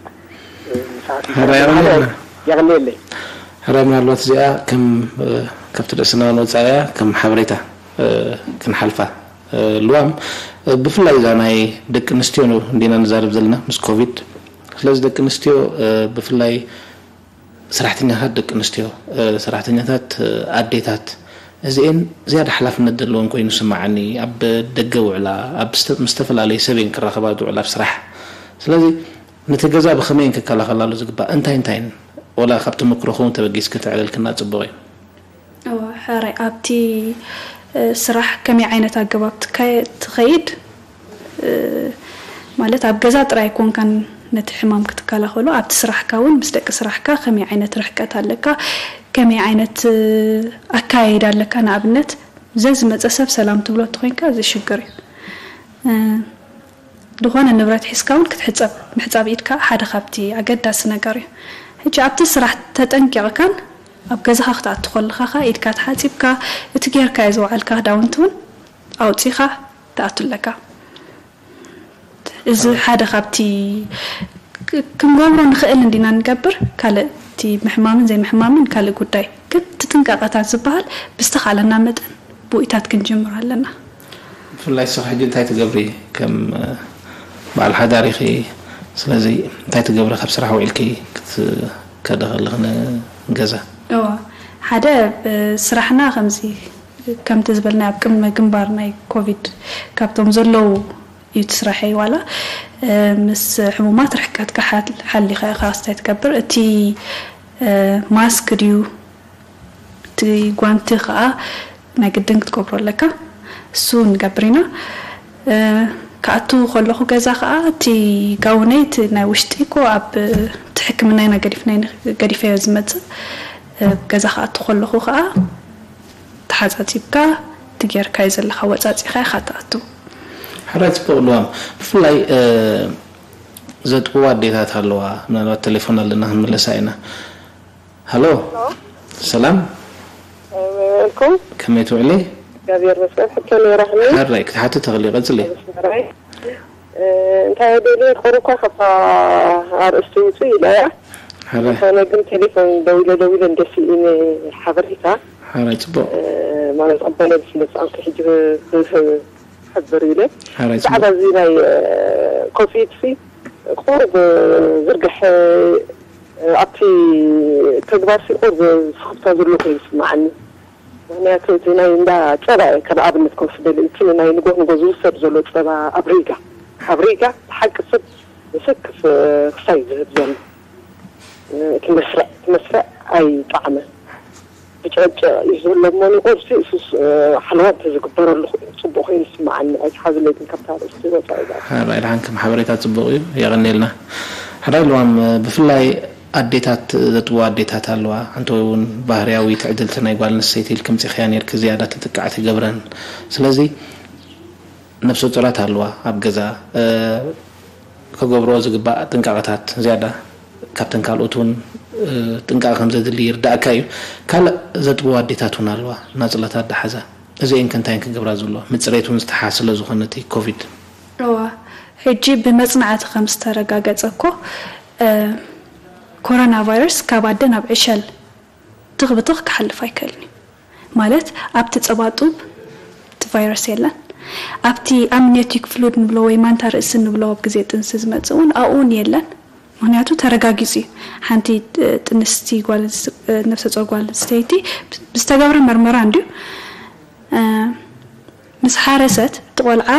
የቕንየለይ ሕራይ ምናልባት እዚኣ ከም ካብቲ ርእስና ንወፃ እያ ከም ሓበሬታ ክንሓልፋ ልዋም ብፍላይ እዛ ናይ ደቂ ኣንስትዮ እንዲና ንዛረብ ዘለና ምስ ኮቪድ። ስለዚ ደቂ ኣንስትዮ ብፍላይ ሰራሕተኛታት ደቂ ኣንስትዮ፣ ሰራሕተኛታት ኣዴታት፣ እዚኤን ዝያዳ ሓላፍነት ዘለዎን ኮይኑ ይስማዓኒ። ኣብ ደገ ውዕላ ኣብ ምስ ዝተፈላለዩ ሰብ እየን ክራኸባ ዝውዕላ ኣብ ስራሕ። ስለዚ ነቲ ገዛ ብኸመይ እየን ክከላኸላሉ ዝግባእ? እንታይ እንታይን ወላ ካብ ተመክሮ ኸውን ተበጊስ ከተዕለልክና ጽቡቕ እዩ። ሕራይ ኣብቲ ስራሕ ከመይ ዓይነት ኣገባብ ትኸይድ ማለት ኣብ ገዛ ጥራይ ኣይኮንካን ነቲ ሕማም ክትከላኸሎ ኣብቲ ስራሕካ እውን ምስ ደቂ ስራሕካ ከመይ ዓይነት ርሕቀት ኣለካ ከመይ ዓይነት ኣካያይዳ ኣለካ ንኣብነት ዘዝመፀ ሰብ ሰላም ትብሎ እንተኮይንካ እዚ ሽግር እዩ ዝኾነ ንብረት ሒዝካ እውን ክትሕፀብ ምሕፃብ ኢድካ ሓደ ካብቲ ኣገዳሲ ነገር እዩ ሕጂ ኣብቲ ስራሕ ተጠንቂቕካን ኣብ ገዛኻ ክትኣቱ ከለኻ ኢድካ ተሓፂብካ እቲ ጌርካዮ ዝወዓልካ ክዳውንቲ እውን ኣውፂኻ ትኣቱ ኣለካ እዚ ሓደ ካብቲ ክንገብሮ ንኽእል እንዲና ንገብር ካልእ እቲ ምሕማምን ዘይምሕማምን ካልእ ጉዳይ ግን እቲ ጥንቃቐታት ዝበሃል ብዝተኻለና መጠን ብኡይታት ክንጅምር ኣለና ብፍላይ ስኺ ሕጂ እንታይ ትገብሪ ከም በዓል ሓዳር ኢኺ ስለዚ እንታይ ትገብሪ ካብ ስራሕ ውዒልኪ ክትከዲ ከለኺ ንገዛ እዋ ሓደ ስራሕና ከምዚ ከምቲ ዝበልናዮ ኣብ ቅድመ ግንባር ናይ ኮቪድ ካብቶም ዘለዉ እዩ እቲ ስራሐይ ዋላ ምስ ሕሙማት ርሕቀትካ ሓሊኻ ኢኻ ክስታይ ትገብር እቲ ማስክ ድዩ እቲ ጓንቲ ከዓ ናይ ግድን ክትገብሮ ኣለካ እሱ ንገብር ኢና ክኣቱ ከለኹ ገዛ ከዓ እቲ ጋውነይ እቲ ናይ ውሽጢ ኮ ኣብ እቲ ሕክምና ኢና ገዲፍናዮ ዝመፅእ ገዛ ክኣቱ ከለኹ ከዓ ተሓፃፂብካ እቲ ጌርካዮ ዘለኻ ወፃፂኻ ኢኻ ትኣቱ። ሕራይ ፅቡቕ ልዋም ብፍላይ ዘጥብዋ ኣዴታት ኣለዋ ምናልባት ቴሌፎን ኣለና ክንምለሳ ኢና። ሃሎ ሰላም ኩም ከመይ ትውዕሊ? እግዚኣብሔር ይመስገን ሕቶ ነይራትኒ። ሕራይ ክትሓቲ ተኽእሊ ቀፅሊ። እንታይ ደልየ ቁሩኳ ካብታ ኣርእስቲ ውፅእ ኢለያ። ሕራይ ዝኾነ ግን ቴሌፎን ደዊለ ደዊለ እንደ ስኢነ ሓበሬታ ሕራይ ፅቡቕ። ማለት ኣባይ ነብሲ መፃወቲ ሕጂ ክህብ ክሕብር ኢለ። ሕራይ ብዛዕባ ፅቡቕ። እዚ ናይ ኮቪድ ሲ ቁሩብ ዝርግሐ ኣብቲ ተግባር ሲ ቁሩብ ስኽፍታ ዘሎ ኮይኑ ይስምዓኒ። ምኽንያቱ እቲ ናይ እንዳ ጸባ እየ ከም ኣብነት ክወስደሉ፣ እቲ ናይ ንጎ ንጎ ዝውሰድ ዘሎ ጸባ ኣብ ሪጋ፣ ኣብ ሪጋ ብሓቂ ሰብ ዘሰክፍ ክሳይ ዝህብ ዘሎ እቲ መስርዕ እቲ መስርዕ ኣይጠዓመን። ብጨቅጨቅ እዩ ዘሎ እሞ ንቁርሲ እሱስ ሓለዋ እንተዝግበረሉ ጽቡቅ ኮይኑ ይስምዓኒ ኣይትሓዝለይ ግን ካብታ ኣርእስቲ ወፃኢ እዛ ሓራይ ድሓን ከም ሓበሬታ ጽቡቅ እዩ የቀንየልና ሓራይ ልዋም ብፍላይ ኣዴታት ዘጥብዋ ኣዴታት ኣለዋ ኣንተ እውን ባህርያዊ ትዕድልቲ ናይ ጓል ኣንስተይቲ ኢልኪ ምጺኽያ ኔርኪ ዝያዳ ተጥቃዕቲ ይገብረን ስለዚ ነብሰ ጡራት ኣለዋ ኣብ ገዛ ከገብርኦ ዝግባእ ጥንቃቐታት ዝያዳ ካብተን ካልኦት እውን ጥንቃቐ ከም ዘድሊ ይርዳእካ እዩ። ካልእ ዘጥብዋ ኣዴታት እውን ኣለዋ ናፅላታት ዝሓዛ። እዚኤን ከ እንታይ እየን ክገብራ ዝብልዋ? ምፅሬት እውን ዝተሓ ስለ ዝኾነ እቲ ኮቪድ። እዋ ሕጂ ብመፅናዕቲ ከም ዝተረጋገፀ እኮ ኮሮና ቫይረስ ካብ ኣደ ናብ ዕሸል ትኽ ብትኽ ክሓልፍ ኣይክእልን እዩ። ማለት ኣብቲ ጸባ ጡብ እቲ ቫይረስ የለን። ኣብቲ ኣምኒዮቲክ ፍሉድ ንብሎ ወይ ማንታ ርእሲ ንብሎ ኣብ ግዜ ጥንሲ ዝመጽእ እውን ኣብኡ እውን የለን። ምኽንያቱ ተረጋጊጹ እዩ። ሓንቲ ጥንስቲ ጓል ነፍሰ ጾር ጓል ኣንስተይቲ ብዝተገብረ መርመራ እንድዩ ምስ ሓረሰት እቲ ቆልዓ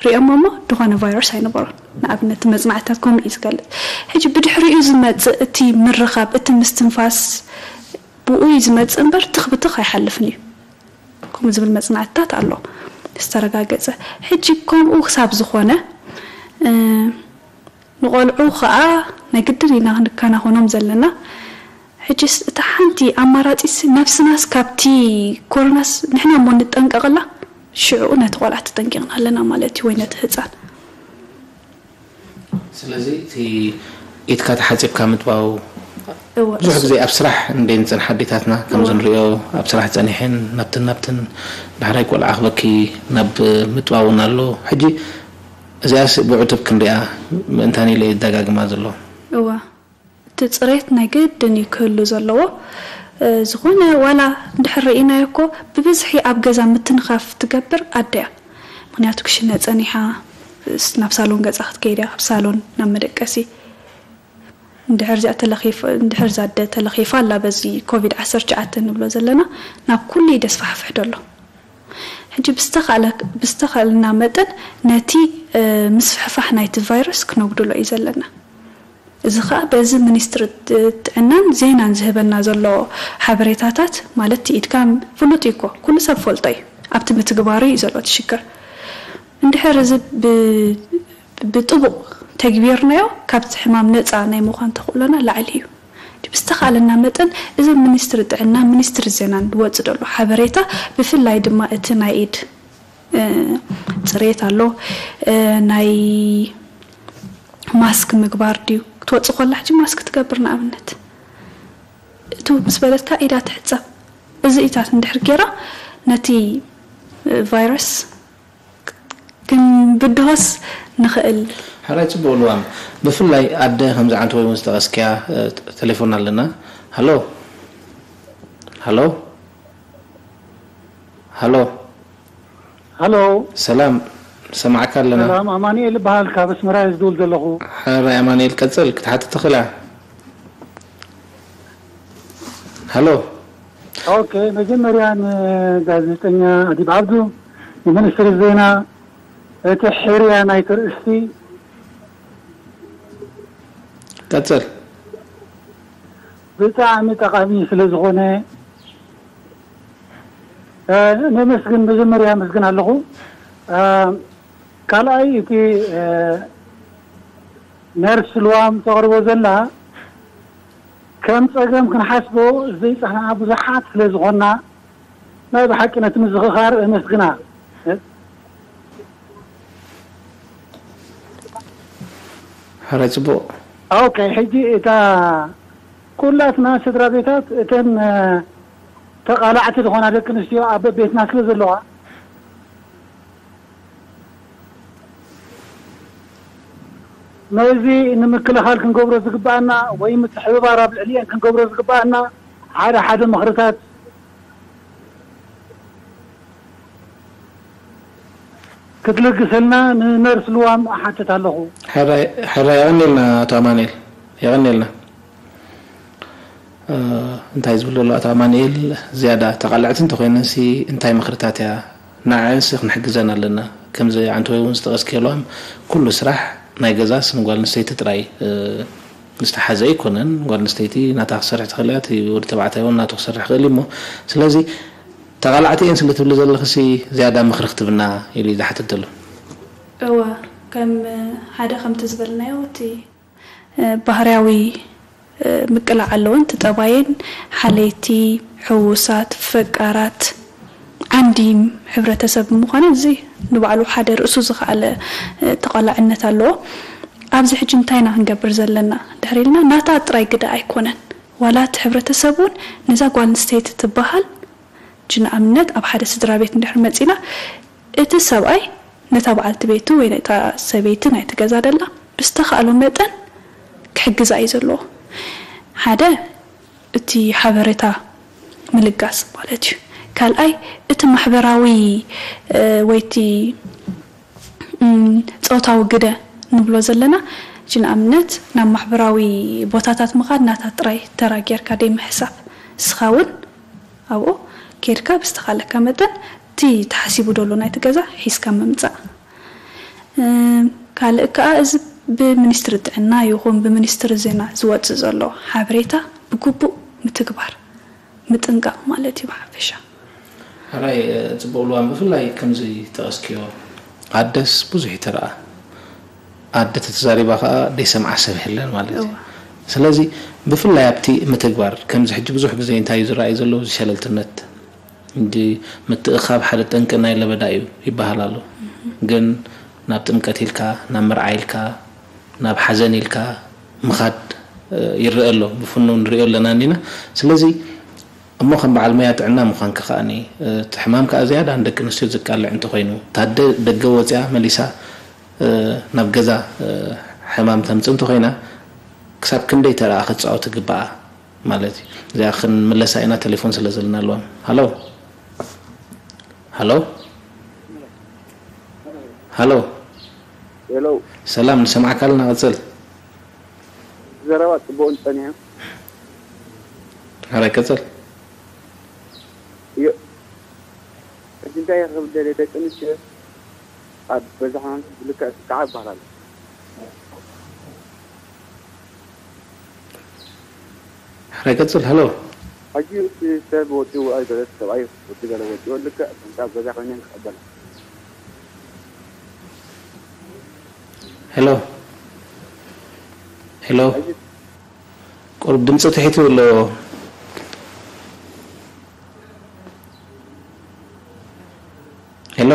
ሪኦሞ እሞ ዝኾነ ቫይረስ ኣይነበሮን። ንኣብነት እቲ መጽናዕትታት ከምኡ እዩ ዝገልጽ። ሕጂ ብድሕሪኡ ዝመጽእ እቲ ምርኻብ፣ እቲ ምስትንፋስ ብኡ እዩ ዝመጽእ እምበር ትኽ ብትኽ ኣይሓልፍን እዩ። ከምኡ ዝብል መጽናዕትታት ኣሎ ዝተረጋገጸ። ሕጂ ከምኡ ክሳብ ዝኾነ ንቖልዑ ኸኣ ናይ ግድን ኢና ክንከናኸኖም ዘለና። ሕጅስ እታ ሓንቲ ኣማራጺስ ነብስናስ ካብቲ ኮሮናስ ንሕና እሞ ንጠንቀቐላ ሽዑ ነቲ ቆልዓ ተጠንቂቕና ኣለና ማለት እዩ ወይ ነቲ ህፃን ስለዚ እቲ ኢድካ ተሓፂብካ ምጥባው ብዙሕ ግዜ ኣብ ስራሕ እንደ ንፅንሕ ኣዴታትና ከምዚ ንሪኦ ኣብ ስራሕ ፀኒሐን ናብትን ናብትን ዳሕራይ ቆልዓ ክበኪ ናብ ምጥባውን ኣሎ ሕጂ እዚኣስ ብዕቱብ ክንሪኣ ምእንታን ኢለ የደጋግማ ዘሎ እዋ እቲ ጽሬት ናይ ግድን እዩ ክህሉ ዘለዎ። እ፣ ዝኾነ ዋላ እንድሕር ርኢናዮ እኮ ብብዝሒ ኣብ ገዛ ምትንኻፍ ትገብር ኣደ እያ። ምኽንያቱ ክሽነ ጸኒሓ፣ ስ-፣ ናብ ሳሎን ገጻ ክትከይድ እያ፣ ካብ ሳሎን ናብ መደቀሲ። እንድሕር እዚኣ ተለኺፍ-፣ እንድሕር እዛ ኣደ ተለኺፋ ኣላ በዚ ኮቪድ ዓሰርተ ትሽዓተ ንብሎ ዘለና፣ ናብ ኩሉ እዩ ደስፋሕፍሕ ደሎ። ሕጂ ብዝተኻእለ-፣ ብዝተኻእለና መጠን ነቲ፣ እ፣ ምስፍሕፋሕ ናይቲ ቫይረስ ክነጉድሎ እዩ ዘለና። እዚ ኸኣ በዚ ሚኒስትሪ ጥ-፣ ጥዕናን ዜናን ዝህበና ዘሎ ሓበሬታታት፣ ማለት እቲ ኢድካ ፍሉጥ እዩ እኮ፣ ኩሉ ሰብ ፈልጦ እዩ። ኣብቲ ምትግባሩ እዩ ዘሎ እቲ ሽግር። እንድሕር እዚ ብ-፣ ብጥቡቕ ተግቢርናዮ፣ ካብቲ ሕማም ነጻ ናይ ምዃን ተኽእሎና ላዕሊ እዩ። ብዝተኻእለና መጠን እዚ ሚኒስትሪ ጥዕና፣ ሚኒስትሪ ዜናን ዝወጽእ ዘሎ ሓበሬታ፣ ብፍላይ ድማ እቲ ናይ ኢድ፣ እ፣ ጽሬት ኣሎ፣ እ፣ ናይ ማስክ ምግባር ድዩ? ክትወጽእ ከላ ሕጂ ማስክ ትገብር ንኣብነት። እቱ ምስ በለትካ ኢዳ ትሕጸብ። እዚ ኢታት እንድሕር ጌራ ነቲ፣ እ፣ ቫይረስ ክንብድሆስ ንኽእል። ሕራይ ጽቡቕ ልዋም። ብፍላይ ኣደ ከምዚ ዓንተ ወይ እውን ዝጠቐስክያ፣ እ፣ ተ-፣ ቴሌፎን ኣለና። ሃሎ። ሃሎ። ሃሎ። ሃሎ። ሰላም። ሰማዕካ ኣለና። ሰላም፣ ኣማኑኤል እበሃል፣ ካብ ኣስመራ እየ ዝድውል ዘለኹ። ሕራይ ኣማኑኤል፣ ቀጽል፣ ክትሓትት ትኽእል ኢኻ። ሃሎ። ኦኬ፣ መጀመርያ ንጋዜጠኛ ኣዲብ ዓብዱ፣ ንሚኒስትሪ ዜና፣ እቲ ሕርያ ናይቲ ርእስቲ ቀጽል። ብጣዕሚ ጠቓሚ ስለ ዝኾነ፣ እ፣ ነመስግን፣ መጀመርያ ኣመስግን ኣለኹ። እ፣ ካልኣይ፣ እቲ፣ እ፣ ነርስ ልዋም ተቕርቦ ዘላ፣ ከም ጸገም ክንሓስቦ ዘይጸናሕና ብዙሓት ስለ ዝኾንና፣ ናይ ብሓቂ ነቲ ምዝኽኻር እመስግና። ሕራይ ጽቡቕ። ኦኬ፣ ሕጂ እታ ኩላትና ስድራ ቤታት፣ እተን፣ እ፣ ተቓላዕቲ ዝኾና ደቂ ኣንስትዮ ኣብ ቤትና ስለ ዘለዋ፣ ነዚ ንምክልኻል ክንገብሮ ዝግባኣና ወይ ምትሕብባር ኣብ ልዕሊኤን ክንገብሮ ዝግባኣና ሓደ ሓደ ምኽርታት ክትልግሰልና ንነርስ ልዋም እሓትት ኣለኹ። ሕራይ፣ ሕራይ፣ የቐንየልና ኣቶ ኣማኑኤል፣ የቐንየልና። እ፣ እንታይ ዝብል ዘሎ ኣቶ ኣማኑኤል፣ ዝያዳ ተቓላዕቲ እንተኾይነንሲ እንታይ ምኽርታት እያ ንዐንሲ ክንሕግዘን ኣለና። ከምዚ ዓንተወይ እውን ዝጠቐስክዮ ልዋም፣ ኩሉ ስራሕ ናይ ገዛስ ንጓል ኣንስተይቲ ጥራይ፣ እ፣ ዝተሓዘ ኣይኮነን። ጓል ኣንስተይቲ ናታ ክሰርሕ ትኽእል እያ፣ እቲ ወዲ ተባዕታይ እውን ናቱ ክሰርሕ ይኽእል እዩ እሞ፣ ስለዚ ተቓላዕቲ እየን ስለ ትብሊ ዘለኽሲ ዝያዳ ምኽሪ ክትብና ኢሉ እዩ ዝሓትት ዘሎ። እወ፣ ከም ሓደ ከምቲ ዝበልናዮ እቲ፣ እ፣ ባህርያዊ፣ እ፣ ምቅላዕ ኣለወን። እቲ ጠባየን ሓለይቲ፣ ሕዉሳት፣ ፈቃራት፣ ዓንዲ ሕብረተሰብ ብምዃነን እዚ ንባዕሉ ሓደ ርእሱ ዝኸኣለ፣ እ፣ ተቓላዕነት ኣለዎ። ኣብዚ ሕጂ እንታይ ኢና ክንገብር ዘለና ድሕሪ ኢልና ናታ ጥራይ ግደ ኣይኮነን። ዋላ እቲ ሕብረተሰብ እውን ነዛ ጓል ኣንስተይቲ ትበሃል ሕጂ ንኣብነት ኣብ ሓደ ስድራ ቤት እንድሕር መጺና፣ እቲ ሰብኣይ ነታ በዓልቲ ቤቱ ወይ ነታ ሰበይቲ ናይቲ ገዛ ደላ ብዝተኻእሎ መጠን ክሕግዛ እዩ ዘለዎ። ሓደ እቲ ሓበሬታ ምልጋስ ማለት እዩ። ካልኣይ እቲ ማሕበራዊ፣ እ፣ ወይ እቲ፣ እም፣ ጾታዊ ግደ ንብሎ ዘለና፣ ሕጂ ንኣብነት ናብ ማሕበራዊ ቦታታት ምኻድ ናታ ጥራይ ተራ ጌርካ ደይ ምሕሳብ፣ ንስኻ እውን ኣብኡ ኬድካ ብዝተኻለካ መጠን እቲ ተሓሲቡ ደሎ ናይቲ ገዛ ሒዝካ ምምጻእ። እም፣ ካልእ ከኣ እዚ ብሚኒስትሪ ጥዕና ይኹን ብሚኒስትሪ ዜና ዝወጽእ ዘሎ ሓበሬታ ብግቡእ ምትግባር፣ ምጥንቃቕ ማለት እዩ ብሓፈሻ። ሕራይ፣ እ፣ ጽቡቕ ልዋም፣ ብፍላይ ከምዚ ጠቐስክዮ ኣደስ ብዙሕ ይትረኣ። ኣደ ተተዛሪባ ከኣ ደይሰምዓ ሰብ የለን ማለት እዩ። እዋ። ስለዚ ብፍላይ ኣብቲ ምትግባር፣ ከምዚ ሕጂ ብዙሕ ግዜ እንታይ እዩ ዝረኣይ ዘሎ፣ እዚ ሸለልትነት፣ እንዲ ምትእኻብ ሓደ ጠንቂ ናይ ለበዳ እዩ ይበሃል ኣሎ። ግን ናብ ጥምቀት ኢልካ፣ ናብ መርዓ ኢልካ፣ ናብ ሓዘን ኢልካ ምኻድ፣ እ፣ ይረአ ኣሎ። ብፍኑው ንሪኦ ኣለና እኒና። ስለዚ እሞ ከም በዓል ሞያ ጥዕና ምዃንካ ከኣኒ፣ እ፣ እቲ ሕማም ከኣ ዝያዳ ንደቂ ኣንስትዮ ዘቃልዕ እንተኾይኑ፣ እታ ኣደ ደገ ወፂኣ መሊሳ፣ እ፣ ናብ ገዛ፣ እ፣ ሕማም ተምፅእ እንተኾይና፣ ክሳብ ክንደይ ተራ ክትፃወት ይግባኣ ማለት እዩ። እዚኣ ክንምለሳ ኢና፣ ቴሌፎን ስለ ዘለና ኣለዋ። ሃሎ፣ ሃሎ፣ ሃሎ። ሄሎ፣ ሰላም፣ ንሰማዕካ ኣለና። ቀፅል። ዘረባ ጽቡቕን ጸኒሑ። ሕራይ ቀፅል። እዮ፣ ሕጂ እንታይ ክብል ደልየ፣ ደቂ ኣንስትዮ ኣብ በዛሕናን ብልክዕ ክጥቃዓ ይበሃል ኣሎ። ሕራይ ቀፅል። ሃሎ። ሕጂ እቲ ሰብ ወዲኡ ኣይበለት፣ ሰብኣይ ወዲ ገለ ወዲኡ፣ ልክዕ ከምቲ ኣብ ገዛ ኮይነን ክቐበላ። ሄሎ፣ ሄሎ። ሕጂ ቁሩብ ድምፂ ትሒቱ ኣሎ። ሄሎ።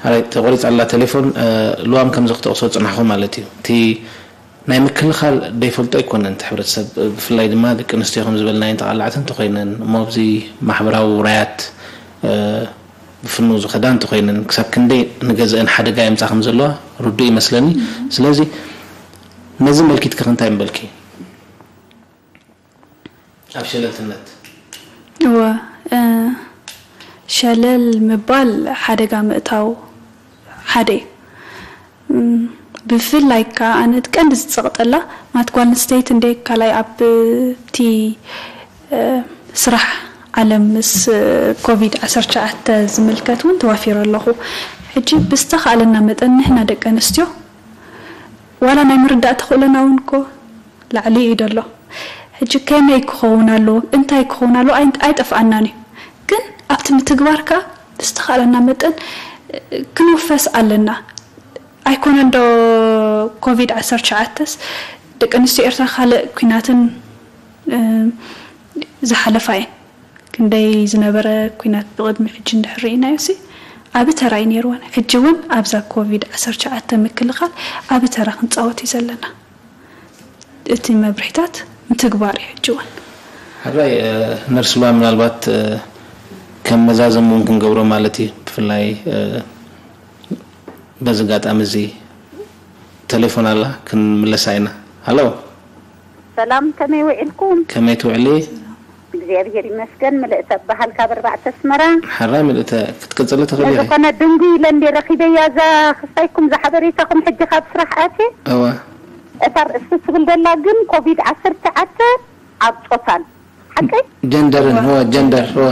ኣረ፣ ተቆሪፃ ኣላ ቴሌፎን። እ፣ ልዋም ከምዚ ክጠቕሶ ፅናሕኹ ማለት እዩ። እቲ ናይ ምክልኻል ደይፈልጦ ኣይኮነን እቲ ሕብረተሰብ፣ ብፍላይ ድማ ደቂ ኣንስትዮ ከም ዝበልናየን ተቓላዕቲ እንተኾይነን፣ እሞ ኣብዚ ማሕበራዊ ውራያት፣ እ፣ ብፍኑ ዝኸዳ እንተኾይነን፣ ክሳብ ክንደይ ንገዝአን ሓደጋ የምፃ ከም ዘለዋ ርዱእ ይመስለኒ። ስለዚ ነዚ መልኪትኪ ከ እንታይ ምበልኪ? ኣብ ሸለልትነት። እወ፣ እ፣ ሸለል ምባል ሓደጋ ምእታው ሓደ እዩ። እም፣ ብፍላይ ከኣ ኣነ እቲ ቀንዲ ዝጸቕጠላ ማለት ጓል ኣንስተይቲ እንደ ካልኣይ ኣብቲ፣ እ፣ ስራሕ ዓለም ምስ ኮቪድ ዓሰርተ ትሽዓተ ዝምልከት እውን ተዋፊረ ኣለኹ። ሕጂ ብዝተኻእለና መጠን ንሕና ደቂ ኣንስትዮ ዋላ ናይ ምርዳእ ተኽእሎና እውን እኮ ላዕሊ እዩ ዘሎ። ሕጂ ከመይ ክኸውን ኣለዎ፣ እንታይ ክኸውን ኣለዎ ኣይ-፣ ኣይጠፍኣናን እዩ። ግን ኣብቲ ምትግባር ከኣ ብዝተኻእለና መጠን ክንውፈስ ኣለና። ኣይኮነን ዶ ኮቪድ ዓሰርተ ትሽዓተስ ደቂ ኣንስትዮ ኤርትራ ካልእ ኲናትን፣ እ፣ ዝሓለፋ እየን። ክንደይ ዝነበረ ኲናት ብቕድሚ ሕጂ እንድሕር ርኢናዮሲ ዓቢ ተራ እዩ ነይርወን። ሕጂ እውን ኣብዛ ኮቪድ ዓሰርተ ትሽዓተ ምክልኻል ዓቢ ተራ ክንጻወት እዩ ዘለና። እቲ መብርሂታት ምትግባር እዩ ሕጂ እውን። ሕራይ፣ እ፣ ነርስ ልዋ ምናልባት፣ እ፣ ከም መዛዘሚ እውን ክንገብሮ ማለት እዩ። ብፍላይ፣ እ፣ በዚ ኣጋጣሚ እዚ ቴሌፎን ኣላ፣ ክንምለሳ ኢና። ሃሎ። ሰላም፣ ከመይ ውዒልኩም? ከመይ ትውዕሊ? እግዚኣብሔር ይመስገን። ምልእተ እበሃል ካብ ኣርባዕተ ኣስመራ። ሕራይ ምልእተ፣ ክትቅጽሊ ትኽእሊ ኢኺ። ዝኾነ ድንጉ ኢለ እንደ ረኺበያ እዛ ክስታይኩም፣ እዛ ሓበሬታኹም ሕጂ ካብ ስራሕ ኣትየ። እወ። እታ ርእሲ ትብል ደላ ግን ኮቪድ ዓሰርተ ትሽዓተ ኣብ ጾታን። ሓቀይ? ጀንደርን፣ እወ፣ ጀንደር፣ እወ።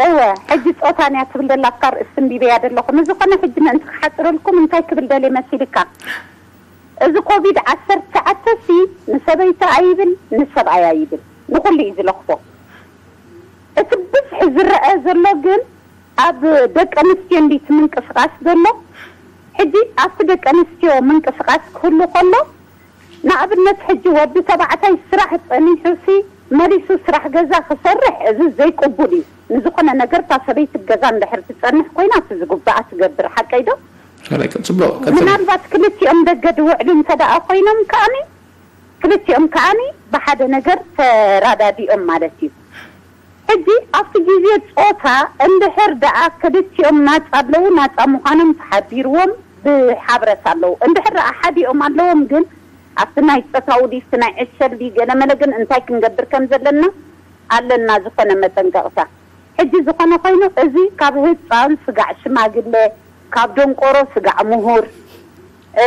እወ፣ ሕጂ ጾታን እያ ትብል ደላ፣ ኣብታ ርእሲ እንዲበያ ደለኹ። ንዝኾነ ሕጂ ምእንቲ ክሓጽረልኩም እንታይ ክብል ደልየ መሲልካ? እዚ ኮቪድ ዓሰርተ ትሽዓተ ሲ ንሰበይቲ ኣይብል፣ ንሰብኣይ ኣይብል፣ ንኹሉ እዩ ዝለኽፎ። እቲ ብዝሒ ዝረአ ዘሎ ግን ኣብ ደቂ ኣንስትዮ እንዲ እቲ ምንቅስቓስ ዘሎ። ሕጂ ኣብቲ ደቂ ኣንስትዮ ምንቅስቓስ ክህሉ ከሎ፣ ንኣብነት ሕጂ ወዲ ተባዕታይ ስራሕ ጸኒሑ ሲ መሊሱ ስራሕ ገዛ ክሰርሕ፣ እዚ ዘይቅቡል እዩ። ንዝኾነ ነገር እታ ሰበይቲ ገዛ እንድሕር ትጸንሕ ኮይና፣ እቲ ዝግባኣ ትገብር። ሓቀይ ዶ? ሕራይ፣ ጽቡቕ፣ ቀጽሊ። ምናልባት ክልቲኦም ደገ ድውዕሉ እንተ ደኣ ኮይኖም ከኣኒ፣ ክልቲኦም ከኣኒ ብሓደ ነገር ተራዳዲኦም ማለት እዩ። ሕጂ ኣብቲ ግዜ ጾታ እንድሕር ደኣ ክልቲኦም ናጻ ኣለዉ፣ ናጻ ምዃኖም ተሓቢርዎም ብሓብረት ኣለዉ። እንድሕር ደኣ ሓዲኦም ኣለዎም ግን ኣብቲ ናይ ጾታዊ ድዩ፣ ናይ ዕሸል ድዩ፣ ገለ መለ ግን እንታይ ክንገብር ከም ዘለና ኣለና ዝኾነ መጠንቀቕታ። ሕጂ ዝኾነ ኮይኑ፣ እዚ ካብ ህጻን ስጋዕ ሽማግለ፣ ካብ ደንቆሮ ስጋዕ ምሁር፣ እ፣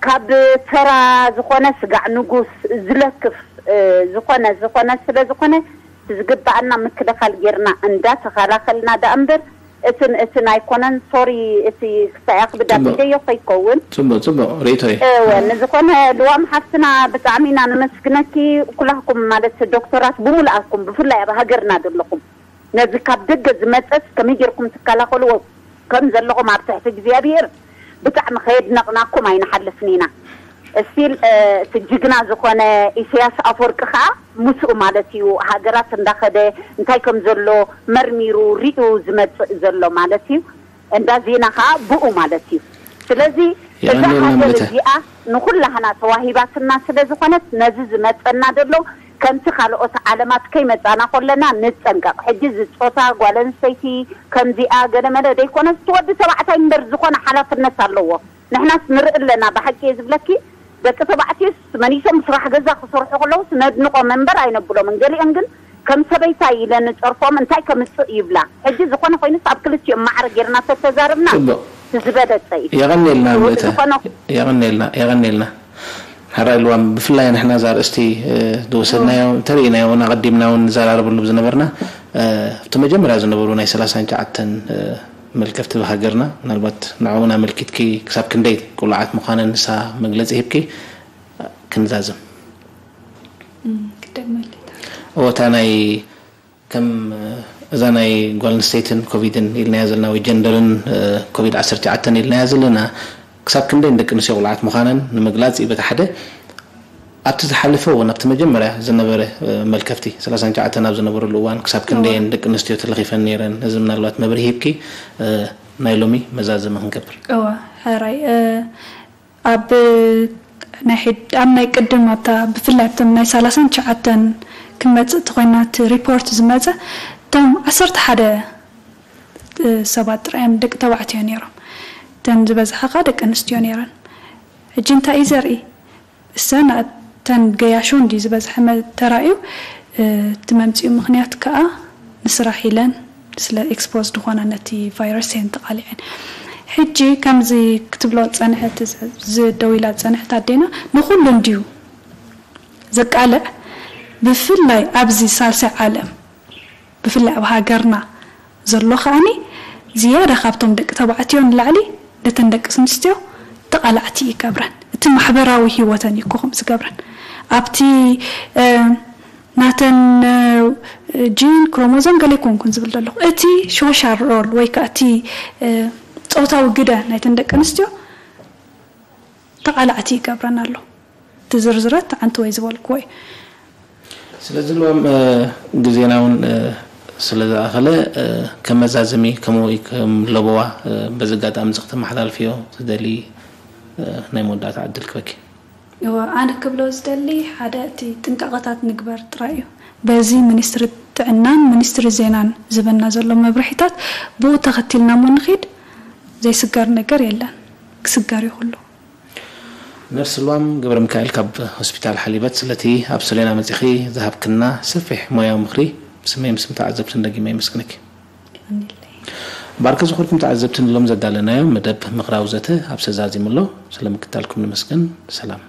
ካብ ተራ ዝኾነ ስጋዕ ንጉስ ዝለክፍ፣ እ፣ ዝኾነ፣ ዝኾነ ስለ ዝኾነ፣ ዝግበኣና ምክልኻል ጌርና እንዳተኸላኸልና ደኣ እምበር፣ እትን፣ እትን ኣይኮነን። ሶሪ፣ እቲ ክሳይ ኣኽብዳ ጽቡቕ። ቢደዮ ከይከውን። ጽቡቕ፣ ጽቡቕ ርእይቶ እዩ። እወ፣ ንዝኾነ ልዋም ሓፍትና ብጣዕሚ ኢና ነመስግነኪ። ኩላኩም ማለት ዶክተራት ብምልኣኩም፣ ብፍላይ ኣብ ሃገርና ዘለኹም፣ ነዚ ካብ ደገ ዝመጸስ ከመይ ጌርኩም ትከላኸልዎ ከም ዘለኹም ኣብ ትሕቲ እግዚኣብሔር ብጣዕሚ ከየድነቕናኩም ኣይንሓልፍን ኢና። እስቲል፣ እ፣ እቲ ጅግና ዝኾነ ኢሳያስ ኣፈወርቂ ኸኣ ምስኡ ማለት እዩ፣ ሃገራት እንዳኸደ እንታይ ከም ዘሎ መርሚሩ ሪኡ ዝመጽእ ዘሎ ማለት እዩ። እንዳ ዜና ኸኣ ብኡ ማለት እዩ። ስለዚ እዛ የቐንየልና ሃገር ምልእተ። እዚኣ ንኹላህና ተዋሂባትና ስለ ዝኾነት ነዚ ዝመጸና ዘሎ ከምቲ ካልኦት ዓለማት ከይመጻና ኮለና ንጠንቀቕ። ሕጂ እዚ ጾታ ጓል ኣንስተይቲ ከምዚኣ ገለ መለ ደይኮነስ እቲ ወዲ ተባዕታይ እምበር ዝኾነ ሓላፍነት ኣለዎ። ንሕናስ ንርኢ ኣለና፣ ብሓቂ እየ ዝብለኪ። ደቂ ተባዕትዮስ መሊሶም ስራሕ ገዛ ክሰርሑ ከለውስ ነድንቖም እምበር ኣይነብሎምን። ገሊኦም ግን ከም ሰበይታይ ኢለን ጨርፎም እንታይ ከምጽእ ይብላ። ሕጂ ዝኾነ ኮይኑስ ኣብ ክልቲኦም ማዕረ ጌርና ተተዛረብና ጽቡቕ። ዝበለጸ እዩ። የቐንየልና እወ፣ ምእተ። ዝኾነ የቐንየልና፣ የቐንየልና። ሕራይ ልዋም፣ ብፍላይ ንሕና እዛ ኣርእስቲ፣ እ፣ ዝወሰድናዮ፣ እወ። እንተርኢናዮ እውን ኣቐዲምና እውን ንዘራረበሉ ዝነበርና፣ እ፣ ኣብቲ መጀመርያ ዝነበሩ ናይ ሰላሳን ትሽዓተን፣ እ፣ መልከፍቲ ብሃገርና፣ ምናልባት ንዕኡን ኣመልኪትኪ ክሳብ ክንደይ ቅሉዓት ምዃነን ንሳ መግለጺ ሂብኪ፣ እ፣ ክንዛዝም። እም፣ ክደግመልታ። እወ፣ እታ ናይ ከም፣ እ፣ እዛ ናይ ጓል ኣንስተይትን ኮቪድን ኢልናያ ዘለና ወይ ጀንደርን፣ እ፣ ኮቪድ ዓሰርተ ትሽዓተን ኢልናያ ዘለና ክሳብ ክንደይ ንደቂ ኣንስትዮ ቁልዓት ምዃነን ንምግላጽ እዩ በቲ ሓደ። ኣብቲ ዝሓለፈ እውን ኣብቲ መጀመርያ ዝነበረ፣ እ፣ መልከፍቲ ሰላሳን ትሽዓተን ኣብ ዝነበረሉ እዋን ክሳብ ክንደየን እዋ። ደቂ ኣንስትዮ ተለኺፈን ነይረን? እዚ ምናልባት መብርሂ ሂብኪ፣ እ፣ ናይ ሎሚ መዛዘሚ ክንገብር። እዋ፣ ሕራይ፣ እ፣ ኣብ ናይ ሕድ-፣ ኣብ ናይ ቅድም ኣብታ ብፍላይ ኣብቶም ናይ ሰላሳን ትሽዓተን ክንመጽእ ተኾይና እቲ ሪፖርት ዝመጸ እቶም ዓሰርተ ሓደ ሰባት ጥራይ እዮም ደቂ ተባዕትዮ ነይሮም። እተን ዝበዝሓ ኸኣ ደቂ ኣንስትዮ ነይረን። ሕጂ እንታይ እዩ ዘርኢ? እሰን እተን ገያሾ እንዲ ዝበዝሐ መ-፣ ተራእዩ፣ እ፣ እቲ መምጽኡ ምኽንያት ከኣ ንስራሕ ኢለን ስለ ኤክስፖዝ ዝኾና ነቲ ቫይረስ እየን ተቓሊዐን። ሕጂ ከምዚ ክትብሎ ጸንሐት፣ ዝ-፣ ዝ-፣ ደው ኢላ ጸንሐት ኣዴና ንኹሉ እንድዩ ዘቃልዕ፣ ብፍላይ ኣብዚ ሳልሳይ ዓለም፣ ብፍላይ ኣብ ሃገርና ዘሎ ከኣኒ ዝያዳ ካብቶም ደቂ ተባዕትዮ ንላዕሊ ነተን ደቂ ኣንስትዮ ተቓላዕቲ ይገብረን። እቲ ማሕበራዊ ህይወተን እዩ ኮኹም ዝገብረን። ኣብቲ፣ እ፣ ናተን፣ እ፣ ጂን ክሮሞዞም ገለ ይኮንኩን ዝብል ዘለኹ። እቲ ሶሻል ሮል ወይ ከኣ እቲ፣ እ፣ ጾታዊ ግደ ናይተን ደቂ ኣንስትዮ ተቓላዕቲ ይገብረን ኣሎ። እቲ ዝርዝረት ዓንተወይ ዝበልክዎ እዩ። ስለዚ ልዋም፣ እ፣ ግዜና እውን፣ እ፣ ስለ ዝኣኸለ፣ እ፣ ከም መዛዘሚ ከምኡ እዩ ከም ለበዋ፣ እ፣ በዚ ኣጋጣሚ እዚ ክተመሓላልፍዮ ትደሊ፣ እ፣ ናይ መወዳእታ ዕድል ክበኪ። እወ፣ ኣነ ክብሎ ዝደሊ ሓደ እቲ ጥንቃቐታት ንግበር ጥራይ እዩ። በዚ ሚኒስትሪ ጥዕናን ሚኒስትሪ ዜናን ዝህበና ዘሎ መብርሒታት ብኡ ተኸቲልና እሞ ንኺድ ዘይስገር ነገር የለን። ክስገር እዩ ኩሉ። ነርስ ልዋም ገብረ ሚካኤል ካብ ሆስፒታል ሓሊበት ስለቲ ኣብ ሰሌና መጺኺ ዝሃብክና ሰፊሕ ሞያዊ ምኽሪ ብስመይ ምስም ተዓዘብትን ደጊመ የመስግነኪ። የቐንየለይ። ባርከ ዝኾንኩም ተዓዘብትን ሎም ዘዳለናዮ መደብ ምኽራዊ ዘተ ኣብ ሰዛዚሙ ኣሎ። ስለ ምክታልኩም ንመስገን። ሰላም።